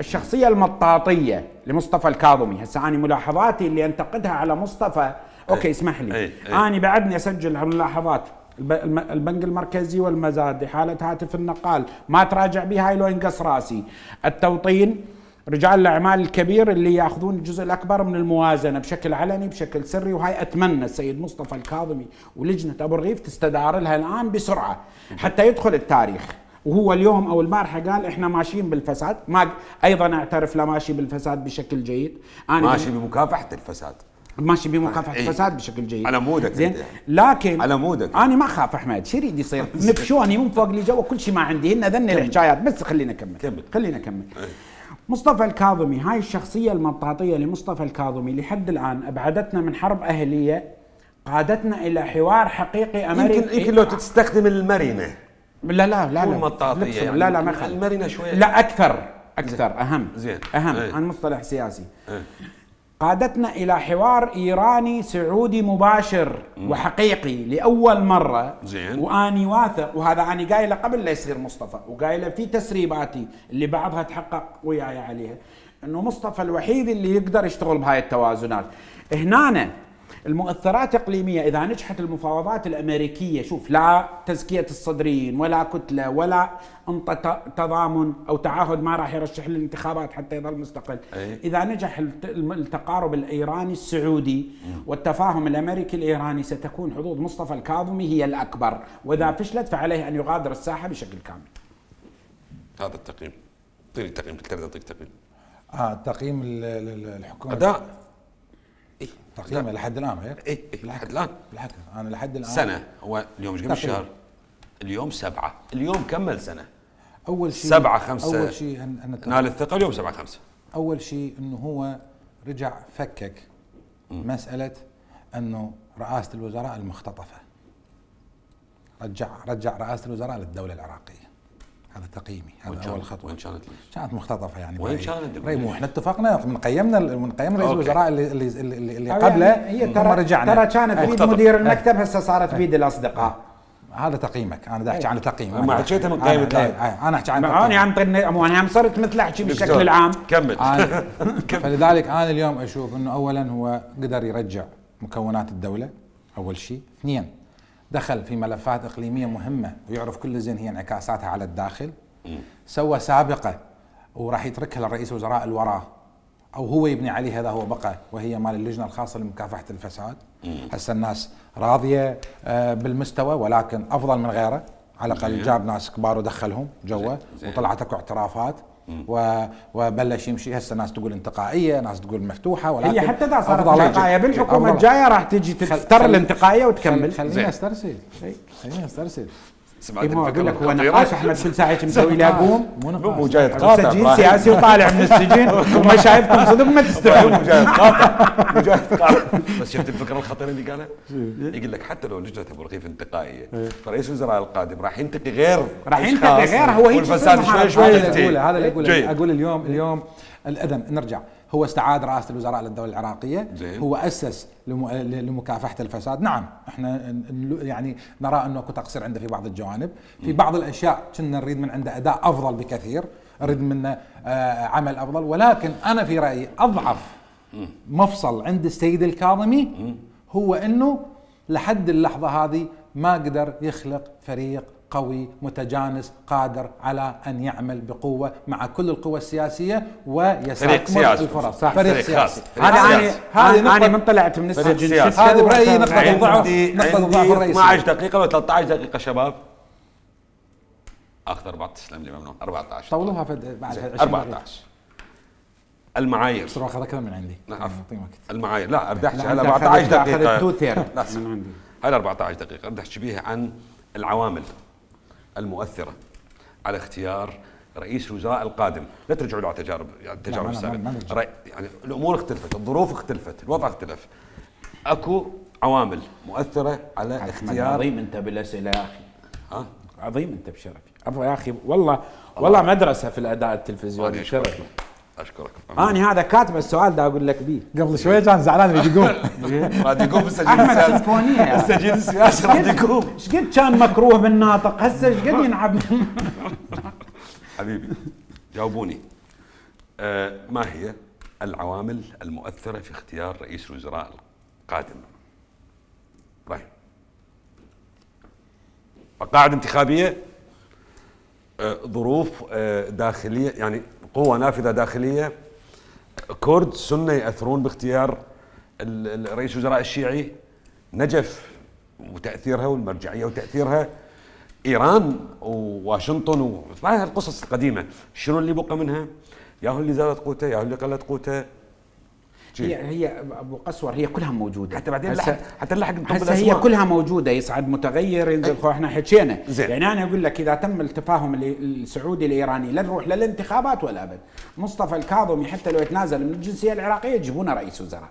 الشخصية المطاطية لمصطفى الكاظمي، هسه أنا ملاحظاتي اللي أنتقدها على مصطفى أوكي اسمح لي، أي أي. أنا بعدني أسجل الملاحظات. البنك المركزي والمزاد حالة هاتف النقال ما تراجع بها، هاي لو ينقص راسي. التوطين، رجال الاعمال الكبير اللي ياخذون الجزء الاكبر من الموازنه بشكل علني بشكل سري، وهاي اتمنى السيد مصطفى الكاظمي ولجنه ابو رغيف تستدار لها الان بسرعه حتى يدخل التاريخ. وهو اليوم او البارحه قال احنا ماشيين بالفساد، ما ايضا اعترف لا ماشي بالفساد بشكل جيد. انا ماشي بمكافحه الفساد، ماشي بمكافحه إيه؟ الفساد بشكل جيد على مودك زين. يعني. لكن على مودك انا ما اخاف احمد، شو يريد يصير؟ نفشوني من فوق لي جوا، كل شيء ما عندي، هن ذن الحكايات. بس خلينا نكمل كمل. خلينا نكمل. مصطفى الكاظمي، هاي الشخصيه المطاطيه لمصطفى الكاظمي لحد الان ابعدتنا من حرب اهليه، قادتنا الى حوار حقيقي امريكي. يمكن يمكن لو تستخدم المرنه. لا لا لا مو لا المطاطيه يعني. لا لا ما يخالف. المرنه شويه. لا اكثر اكثر اهم زين. اهم ايه. عن مصطلح سياسي. ايه. قادتنا إلى حوار إيراني سعودي مباشر مم. وحقيقي لأول مرة. زين. وأني واثق، وهذا أنا قايله قبل لا يصير مصطفى، وقايله في تسريباتي اللي بعضها تحقق وياي عليها، إنه مصطفى الوحيد اللي يقدر يشتغل بهاي التوازنات. هنا المؤثرات إقليمية، إذا نجحت المفاوضات الأمريكية، شوف لا تزكية الصدريين ولا كتلة ولا أنطة تضامن أو تعهد ما راح يرشح للانتخابات حتى يظل مستقل. أي. إذا نجح التقارب الإيراني السعودي والتفاهم الأمريكي الإيراني، ستكون حظوظ مصطفى الكاظمي هي الأكبر، وإذا فشلت فعليه أن يغادر الساحة بشكل كامل. هذا التقييم. اعطيني تقييم، تقدر تعطيك تقييم. اه تقييم ال- ال- الحكومه اداء. إيه؟ تقييم لحد الان غير ايه ايه لحد الان بالحكي انا لحد الان سنه. هو اليوم ايش قبل الشهر؟ اليوم سبعه، اليوم كمل سنه. اول شيء سبعة خمسة اول شيء أن نال الثقه اليوم سبعة خمسة. اول شيء انه هو رجع فكك م. مساله انه رئاسه الوزراء المختطفه، رجع رجع رئاسه الوزراء للدوله العراقيه. هذا تقييمي، هذا اول خطوه. وين كانت؟ كانت مختطفه يعني. وين كانت؟ مو احنا اتفقنا من قيمنا من قيمنا رئيس الوزراء اللي اللي اللي, اللي قبله يعني هي ترى رجعنا. ترى كانت بيد مدير المكتب، هسه صارت بيد الاصدقاء. هذا تقييمك، انا بدي احكي عن تقييم. ما حكيتها من قيمة. انا احكي عن تقييم. انا عم طرني مو انا عم صرت مثل احكي بالشكل العام. كمل. فلذلك انا اليوم اشوف انه اولا هو قدر يرجع مكونات الدوله اول شيء، اثنين دخل في ملفات اقليميه مهمه ويعرف كل زين هي انعكاساتها على الداخل. سوى سابقه وراح يتركها لرئيس الوزراء الوراه او هو يبني عليه، هذا هو بقى، وهي مال اللجنه الخاصه لمكافحه الفساد. هسه الناس راضيه بالمستوى، ولكن افضل من غيره، على الاقل جاب ناس كبار ودخلهم جوا وطلعت اكو اعترافات وبلش يمشي. هسه ناس تقول انتقائيه، ناس تقول مفتوحه، ولكن هي حتى اذا صارت انتقائيه بالحكومه الجايه راح تجي تفتر الانتقائيه وتكمل. خليني استرسل خليني استرسل سمعت الفكره لك هو نقاش احمد كل ساعه مسوي له قوم مو جاي تقاطع سجين سياسي وطالع من السجن وما شايفكم صدق ما تستوعبون. مو جاي تقاطع مو جاي تقاطع بس شفت الفكره الخطيره اللي قالها؟ يقول لك حتى لو لجنه ابو رغيف انتقائيه فرئيس الوزراء القادم راح ينتقي غير راح ينتقي غير هو هيك والفساد شوي شوي هذا اللي اقوله هذا اللي اقوله اقول اليوم اليوم الاذن نرجع. هو استعاد رئاسة الوزراء للدولة العراقية. زين. هو أسس لمكافحة الفساد. نعم احنا يعني نرى أنه اكو تقصير عنده في بعض الجوانب، في بعض الأشياء كنا نريد من عنده أداء أفضل بكثير، نريد منه عمل أفضل، ولكن أنا في رأيي أضعف مفصل عند السيد الكاظمي هو أنه لحد اللحظة هذه ما قدر يخلق فريق قوي متجانس قادر على أن يعمل بقوة مع كل القوى السياسية ويستثمر الفرص. صح. فريق سياسي. هذه هذه أنا من طلعت من السجن هذه برأيي نقطة الضعف نقطة الضعف الرئيسية. اثنتي عشرة دقيقة ولا ثلاثة عشر دقيقة شباب؟ أخذ أربعة تسلم لي ممنون أربعة عشر طولوها بعد عشرين أربعة عشر المعايير بس راح أكثر من عندي. نعم المعايير لا أردح على أربعة عشر دقيقة. لا هاي أربعة عشر دقيقة أردح بيها عن العوامل المؤثرة على اختيار رئيس الوزراء القادم. لا ترجعوا له على تجارب يعني التجارب السابقة، يعني الأمور اختلفت، الظروف اختلفت، الوضع اختلف. اكو عوامل مؤثرة على اختيار. عظيم انت بالأسئلة يا أخي. ها؟ عظيم انت بشرفي. عفوا يا أخي والله والله مدرسة في الأداء التلفزيوني. شرف. أشكرك. أنا هذا كاتب السؤال ده أقول لك بيه. قبل شوي كان زعلان يجي يقوم. راح يقوم بالسجين السياسي. أحمد سيمفونية. السجين السياسي راح يقوم. إيش قد كان مكروه بالناطق هسه إيش قد ينعب. حبيبي جاوبوني. آه ما هي العوامل المؤثرة في اختيار رئيس الوزراء القادم؟ راي. مقاعد انتخابية، آه ظروف آه داخلية يعني قوة نافذة داخلية، كرد سنة يأثرون باختيار رئيس الوزراء الشيعي، نجف وتأثيرها والمرجعية وتأثيرها، إيران وواشنطن وهذه القصص القديمة، شنو اللي بقى منها؟ ياهو اللي زادت قوته ياهو اللي قلت قوته. هي هي ابو قسور هي كلها موجوده حتى بعدين لحق حتى نلحق هسه هي كلها موجوده، يصعد متغير ينزل خو احنا حكينا. زين. يعني انا اقول لك اذا تم التفاهم السعودي الايراني لا نروح للانتخابات ولا ابد. مصطفى الكاظمي حتى لو يتنازل من الجنسيه العراقيه يجيبونه رئيس وزراء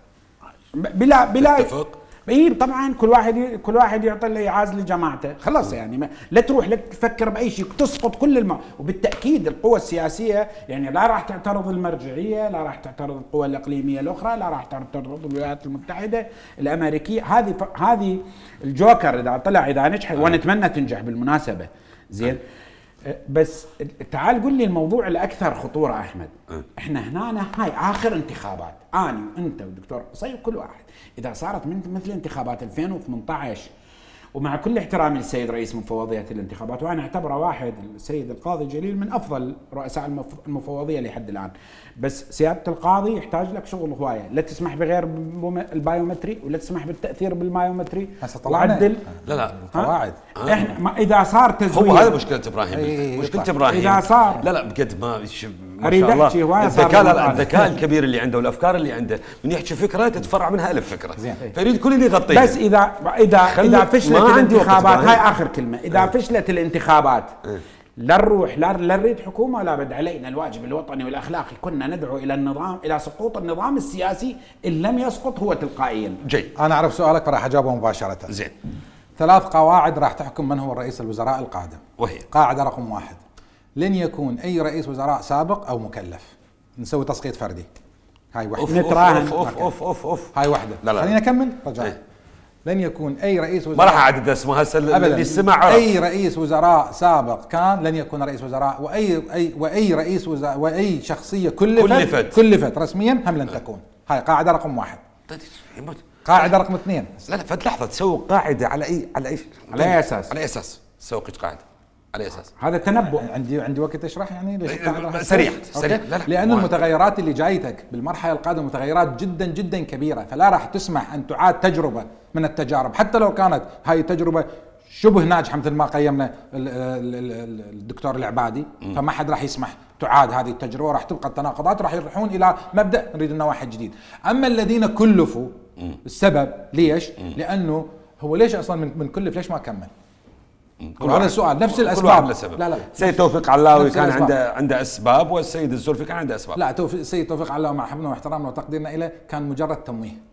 بلا بلا تتفق؟ اي طبعا كل واحد كل واحد يعطي اللي يعاز لجماعته خلاص. يعني ما لا تروح لا تفكر باي شيء تسقط كل الم... وبالتاكيد القوى السياسيه يعني لا راح تعترض المرجعيه، لا راح تعترض القوى الاقليميه الاخرى، لا راح تعترض الولايات المتحده الامريكيه. هذه ف... هذه الجوكر اذا طلع اذا نجح ونتمنى تنجح بالمناسبه. زين بس تعال قل لي الموضوع الاكثر خطوره احمد. احنا هنا هاي اخر انتخابات، اني وانت والدكتور قصي وكل واحد اذا صارت من مثل انتخابات ألفين وثمانية عشر، ومع كل احترامي للسيد رئيس مفوضيه الانتخابات وانا اعتبره واحد السيد القاضي جليل من افضل رؤساء المفوضيه لحد الان، بس سياده القاضي يحتاج لك شغل هوايه، لا تسمح بغير البايومتري ولا تسمح بالتاثير بالبايومتري. هسه طلعنا لا لا قواعد. احنا ما اذا صار تزوير هو هذا مشكله ابراهيم. مشكله ابراهيم اذا صار لا لا بجد ما ما اريد احكي هوايه الذكاء الذكاء الكبير اللي عنده والافكار اللي عنده من يحكي فكره تتفرع منها الف فكره فيريد كل اللي يغطيها. بس اذا اذا اذا فشلت الانتخابات هاي اخر كلمه اذا اه. فشلت الانتخابات اه. لا نروح لا نريد حكومه ولا بد علينا الواجب الوطني والاخلاقي كنا ندعو الى النظام الى سقوط النظام السياسي ان لم يسقط هو تلقائيا. جيد انا اعرف سؤالك فراح اجاوبه مباشره. زين ثلاث قواعد راح تحكم من هو الرئيس الوزراء القادم، وهي قاعده رقم واحد لن يكون اي رئيس وزراء سابق او مكلف. نسوي تسقيط فردي. هاي وحده. نتراهن. اوف اوف اوف اوف هاي وحده. خلينا نكمل رجاء. ايه. لن يكون اي رئيس وزراء ما راح اعدد اسمه هسه اللي سمع عرف. اي رئيس وزراء سابق كان لن يكون رئيس وزراء، واي اي واي رئيس وزراء واي شخصيه كلفت كلفت, كلفت رسميا هم لن تكون. هاي قاعده رقم واحد. قاعده رقم اثنين لا لا فد لحظه تسوي قاعده على اي على اي على اي اساس؟ على اي اساس تسوي قاعده على اي اساس؟ هذا تنبؤ. عندي عندي وقت اشرح يعني ليش سريع سريع. لا لا لان المتغيرات اللي جايتك بالمرحله القادمه متغيرات جدا جدا كبيره، فلا راح تسمح ان تعاد تجربه من التجارب حتى لو كانت هاي التجربه شبه ناجحه مثل ما قيمنا الدكتور العبادي، فما حد راح يسمح تعاد هذه التجربه وراح تبقى التناقضات وراح يروحون الى مبدا نريد لنا واحد جديد. اما الذين كلفوا السبب ليش؟ لانه هو ليش اصلا من, من كلف ليش ما كمل؟ هذا السؤال نفس الاسباب. لا لا سيد توفيق علاوي كان عنده عنده اسباب والسيد الزلفي كان عنده اسباب. لا توفيق السيد توفيق علاوي مع حبنا واحترامنا وتقديرنا له كان مجرد تمويه.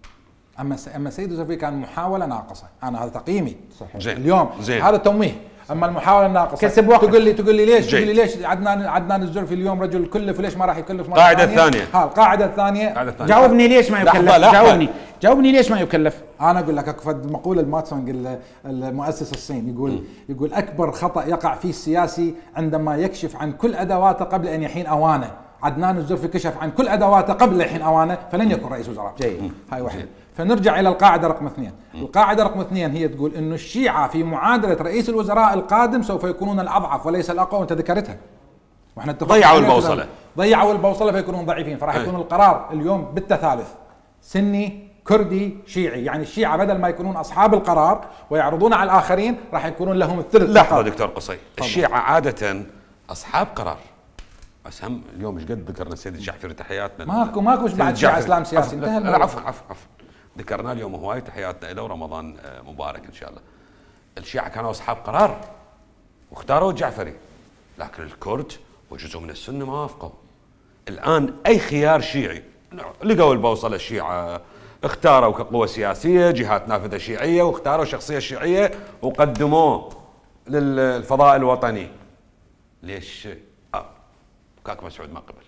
اما اما السيد الزلفي كان محاوله ناقصه، انا هذا تقييمي صحيح. زين. اليوم زين. هذا تمويه. اما المحاوله الناقصه كسب وقت. تقول لي تقول لي ليش جيد. تقول لي ليش عدنان عدنان الزلفي اليوم رجل كلف وليش ما راح يكلف مرة القاعده الثانيه. ها القاعده الثانيه جاوبني ليش ما يكلف؟ لحظة لحظة. جاوبني جاوبني ليش ما يكلف؟ انا اقول لك اكو مقوله الماتسونج المؤسس الصيني يقول يقول اكبر خطا يقع فيه السياسي عندما يكشف عن كل ادواته قبل ان يحين اوانه. عدنان الزلفي كشف عن كل ادواته قبل ان يحين اوانه فلن يكون رئيس وزراء. جيد. هاي واحده. فنرجع الى القاعده رقم اثنين. القاعده رقم اثنين هي تقول انه الشيعه في معادله رئيس الوزراء القادم سوف يكونون الاضعف وليس الاقوى، وانت ذكرتها. واحنا اتفقنا ضيعوا البوصله. ضيعوا البوصله فيكونون ضعيفين، فراح يكون القرار اليوم بالتثالث سني كردي شيعي، يعني الشيعة بدل ما يكونون أصحاب القرار ويعرضون على الآخرين راح يكونون لهم الثلث. لحظة دكتور قصي، الشيعة عادة أصحاب قرار، بس هم اليوم ايش قد ذكرنا السيد الجعفري تحياتنا. ماكو ماكو بعد شيعة إسلام سياسي انتهى. لا عفوا عفوا عفوا ذكرنا اليوم هواي تحياتنا له ورمضان مبارك إن شاء الله. الشيعة كانوا أصحاب قرار واختاروا الجعفري، لكن الكرد وجزء من السنة ما وافقوا. الآن أي خيار شيعي لقوا البوصلة الشيعة، اختاروا كقوة سياسية جهات نافذة شيعية واختاروا شخصية شيعية وقدموه للفضاء الوطني. ليش؟ آه كاك مسعود ما قبل.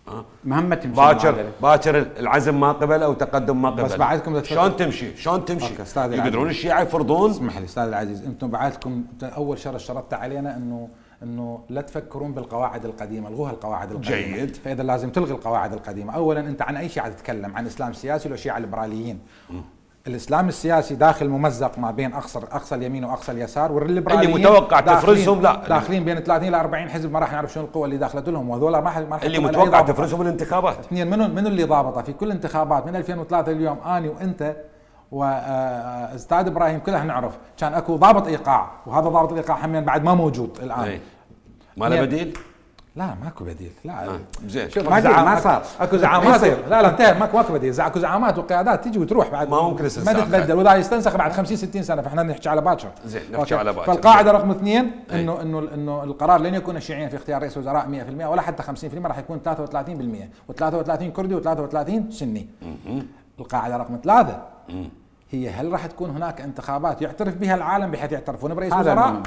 آه مهمة تمشي باكر باكر العزم ما قبل او تقدم ما قبل. بس بعدكم شلون تمشي؟ شلون تمشي؟ يقدرون الشيعة يفرضون؟ اسمح لي استاذ العزيز، انتم بعدكم اول شرط شرطت علينا انه انه لا تفكرون بالقواعد القديمه، الغوها القواعد القديمه. جيد. فاذا لازم تلغي القواعد القديمه. اولا انت عن اي شيعه تتكلم؟ عن اسلام سياسي ولا شيعه ليبراليين؟ م. الاسلام السياسي داخل ممزق ما بين اقصى اقصى اليمين واقصى اليسار، والليبراليين اللي متوقع تفرزهم لا داخلين بين ثلاثين الى أربعين حزب ما راح نعرف شنو القوه اللي داخلت لهم، وهذول ما راح ما اللي متوقع تفرزهم الانتخابات. اثنين منو منو اللي ضابطه في كل انتخابات من ألفين وثلاثة اليوم اني وانت واستاذ ابراهيم كلنا نعرف كان اكو ضابط ايقاع، وهذا ضابط الايقاع همين بعد ما موجود الان. ايه. ما له بديل؟ لا ماكو بديل. لا آه. زين ما ما صار اكو زعامات. لا لا انتهى ماكو ماكو بديل. اكو زعامات وقيادات تيجي وتروح بعد ما ممكن ما تتبدل، وذا يستنسخ بعد خمسين ستين سنه، فاحنا نحكي على باكر. زين نحكي على باكر. فالقاعده رقم اثنين انه انه انه القرار لن يكون الشيعيين في اختيار رئيس وزراء مئة بالمئة ولا حتى خمسين بالمئة، راح يكون ثلاثة وثلاثين بالمئة وثلاثة وثلاثين كردي وثلاثة وثلاثين سني. القاعده رقم ثلاثة هي هل راح تكون هناك انتخابات يعترف بها العالم بحيث يعترفون برئيس وزراء؟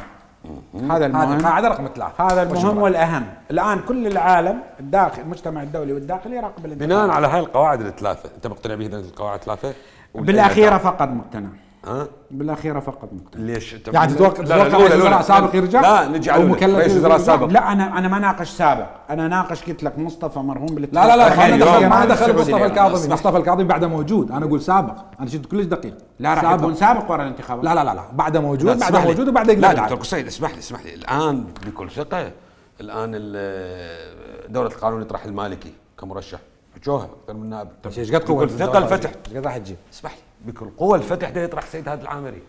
هذا المهم. القاعده رقم ثلاثة. هذا المهم والاهم. الان كل العالم الداخل المجتمع الدولي والداخلي يراقب الانتخابات. بناء على هاي القواعد الثلاثه، انت مقتنع بهذه القواعد الثلاثه؟ بالاخيره فقط مقتنع. ها؟ بالاخيره فقط مقتنع. ليش؟ يعني تتوقع تتوقع رئيس وزراء سابق يرجع؟ لا نجي على رئيس وزراء سابق. لا انا انا ما ناقش سابق، انا ناقش قلت لك مصطفى مرهون بالاتفاق. لا لا لا ما دخل ما دخل مصطفى الكاظمي، مصطفى الكاظمي بعده موجود، انا اقول سابق، انا شفت كلش دقيق. لا راح يكون سابق ورا الانتخابات. لا لا لا لا بعده موجود، بعده موجود وبعده يقدر. لا دكتور قصيد اسمح لي اسمح لي الان بكل ثقه الان دوله القانون يطرح المالكي كمرشح حجوها اكثر من نائب. طيب ايش قد قوه بكل ثقه الفتح ايش قد راح تجيب؟ اسمح لي بكل قوه الفتح ده يطرح سيد هادي العامري.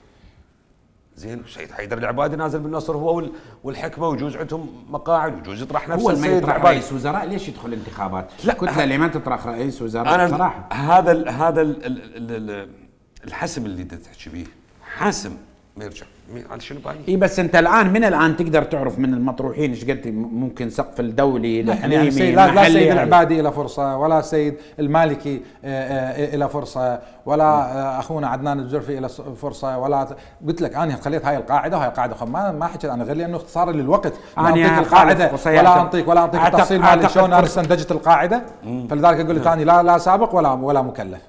زين سيد حيدر العبادي نازل بالنصر هو والحكمه ويجوز عندهم مقاعد ويجوز يطرح نفس السيد العبادي. رئيس وزراء ليش يدخل انتخابات؟ لا كتله اللي ما تطرح رئيس وزراء أنا بصراحه. هذا ال هذا ال ال ال الحسم اللي تحكي به حاسم ما يرجع على شنو بالي؟ اي بس انت الان من الان تقدر تعرف من المطروحين ايش قد ممكن سقف الدولي يعني يعني لا لا السيد العبادي له فرصه ولا السيد المالكي له فرصه ولا اخونا عدنان الزرفي له فرصه ولا قلت لك انا خليت هاي القاعده وهي قاعده ما ما حكيت انا غير لانه اختصارا للوقت لا اعطيك القاعده ولا اعطيك ولا اعطيك التفصيل مال شلون انا استنتجت القاعده. فلذلك اقول لك ثاني لا لا سابق ولا ولا مكلف.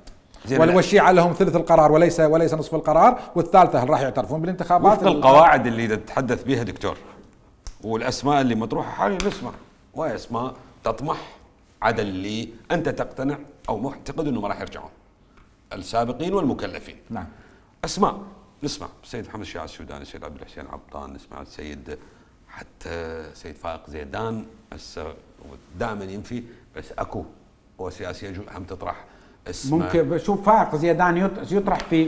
والشيعة لهم ثلث القرار وليس وليس نصف القرار، والثالثة هل راح يعترفون بالانتخابات؟ وفق القواعد اللي تتحدث بها دكتور والاسماء اللي مطروحه حاليا نسمع وهي اسماء تطمح عدا اللي انت تقتنع او معتقد انه ما راح يرجعون السابقين والمكلفين. نعم اسماء نسمع السيد محمد الشيعة السوداني، السيد عبد الحسين عبطان، نسمع السيد حتى سيد فائق زيدان هسه دائما ينفي بس اكو قوى سياسيه هم تطرح اسمه. ممكن شوف فائق زيدان يطرح في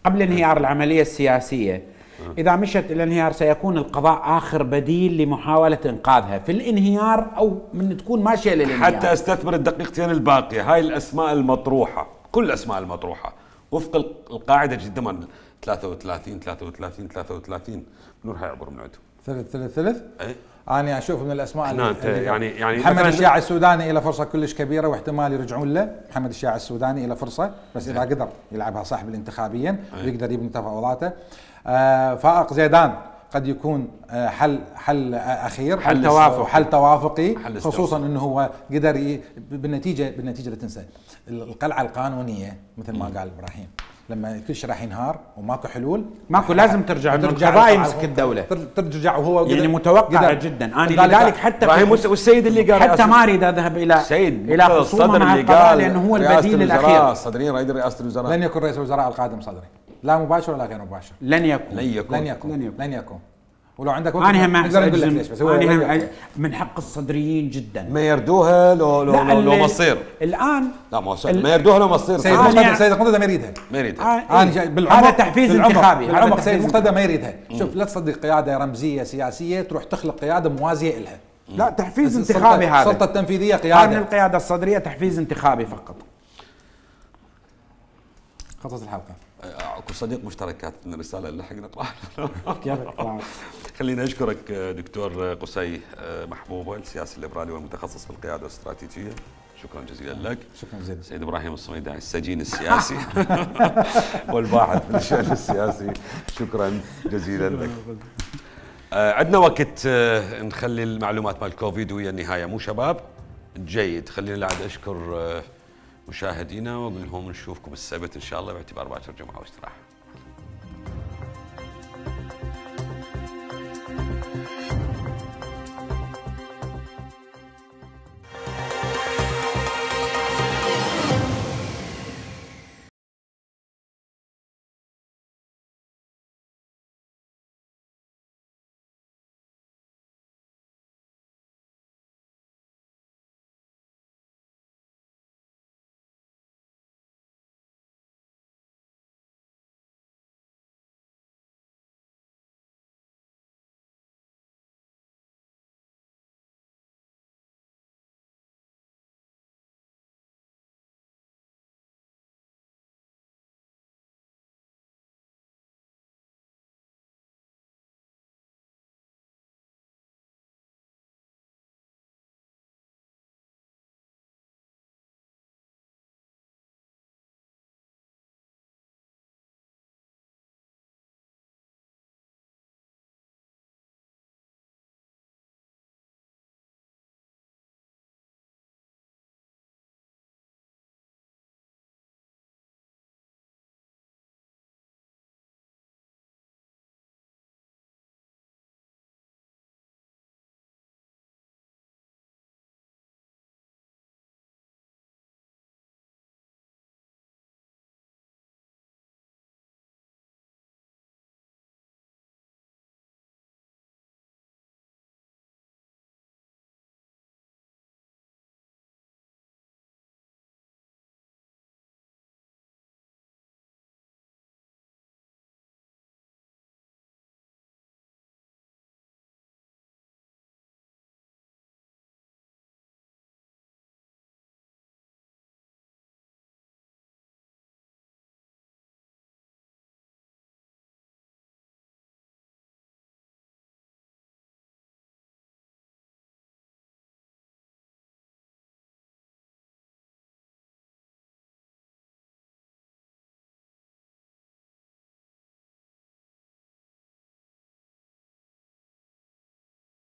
قبل انهيار العمليه السياسيه إذا مشت إلى الانهيار سيكون القضاء آخر بديل لمحاولة إنقاذها في الانهيار أو من تكون ماشية للانهيار. حتى استثمر الدقيقتين الباقية. هاي الأسماء المطروحة، كل الأسماء المطروحة وفق القاعدة جدا ثلاثة وثلاثين ثلاثة وثلاثين ثلاثة وثلاثين منو راح يعبر من عندهم؟ ثلث ثلث ثلث؟ اي انا اشوف من الاسماء اللي يعني يعني محمد الشياع السوداني له فرصه كلش كبيره واحتمال يرجعون له. محمد الشياع السوداني له فرصه بس اذا قدر يلعبها صح بالانتخابيا ويقدر يبني تفاوضاته. آه فائق زيدان قد يكون آه حل حل آه اخير، حل توافقي حل توافقي حل خصوصا انه هو قدر ي... بالنتيجه بالنتيجه لا تنسى القلعه القانونيه مثل ما قال ابراهيم، لما كل شيء راح ينهار وماكو حلول ماكو لازم ترجع القضاء يمسك الدوله، ترجع وهو يعني متوقع جدا. انا لذلك حتى والسيد اللي قال حتى ما اريد اذهب الى الى خصومه مع القضاء لانه هو البديل الاخير. صدرين رئيس رئاسه الوزراء لن يكون رئيس الوزراء القادم صدري، لا مباشر ولا غير مباشر. لن يكون لن يكون لن يكون لن يكون, لن يكون. ولو عندك وقت انا هم نقدر نقول لك ليش، بس هو أنا من حق الصدريين جدا ما يردوها لو لو لو, لو مصير الان. لا ما ما يردوها لو مصير. سيد مقتدى سيد مقتدى ما يريدها ما يريدها. آه إيه؟ هذا تحفيز انتخابي. بالعمق سيد مقتدى ما يريدها. شوف لا تصدق قياده رمزيه سياسيه تروح تخلق قياده موازيه لها. لا تحفيز انتخابي. هذا السلطه التنفيذيه قياده من القياده الصدريه تحفيز انتخابي فقط. خلصت الحلقه. اكو صديق مشترك كاتب لنا رساله نلحق نقراها. كيف؟ خلينا اشكرك دكتور قسي محبوبه السياسي الليبرالي والمتخصص في القياده الاستراتيجيه، شكرا جزيلا لك. شكرا جزيلا. سيد ابراهيم الصميداني السجين السياسي والباحث في الشأن السياسي، شكرا جزيلا لك. عندنا وقت نخلي المعلومات مال كوفيد ويا النهايه مو شباب؟ جيد. خلينا بعد اشكر مشاهدينا واقول لهم نشوفكم السبت ان شاء الله باعتبار باكر جمعه واستراحه.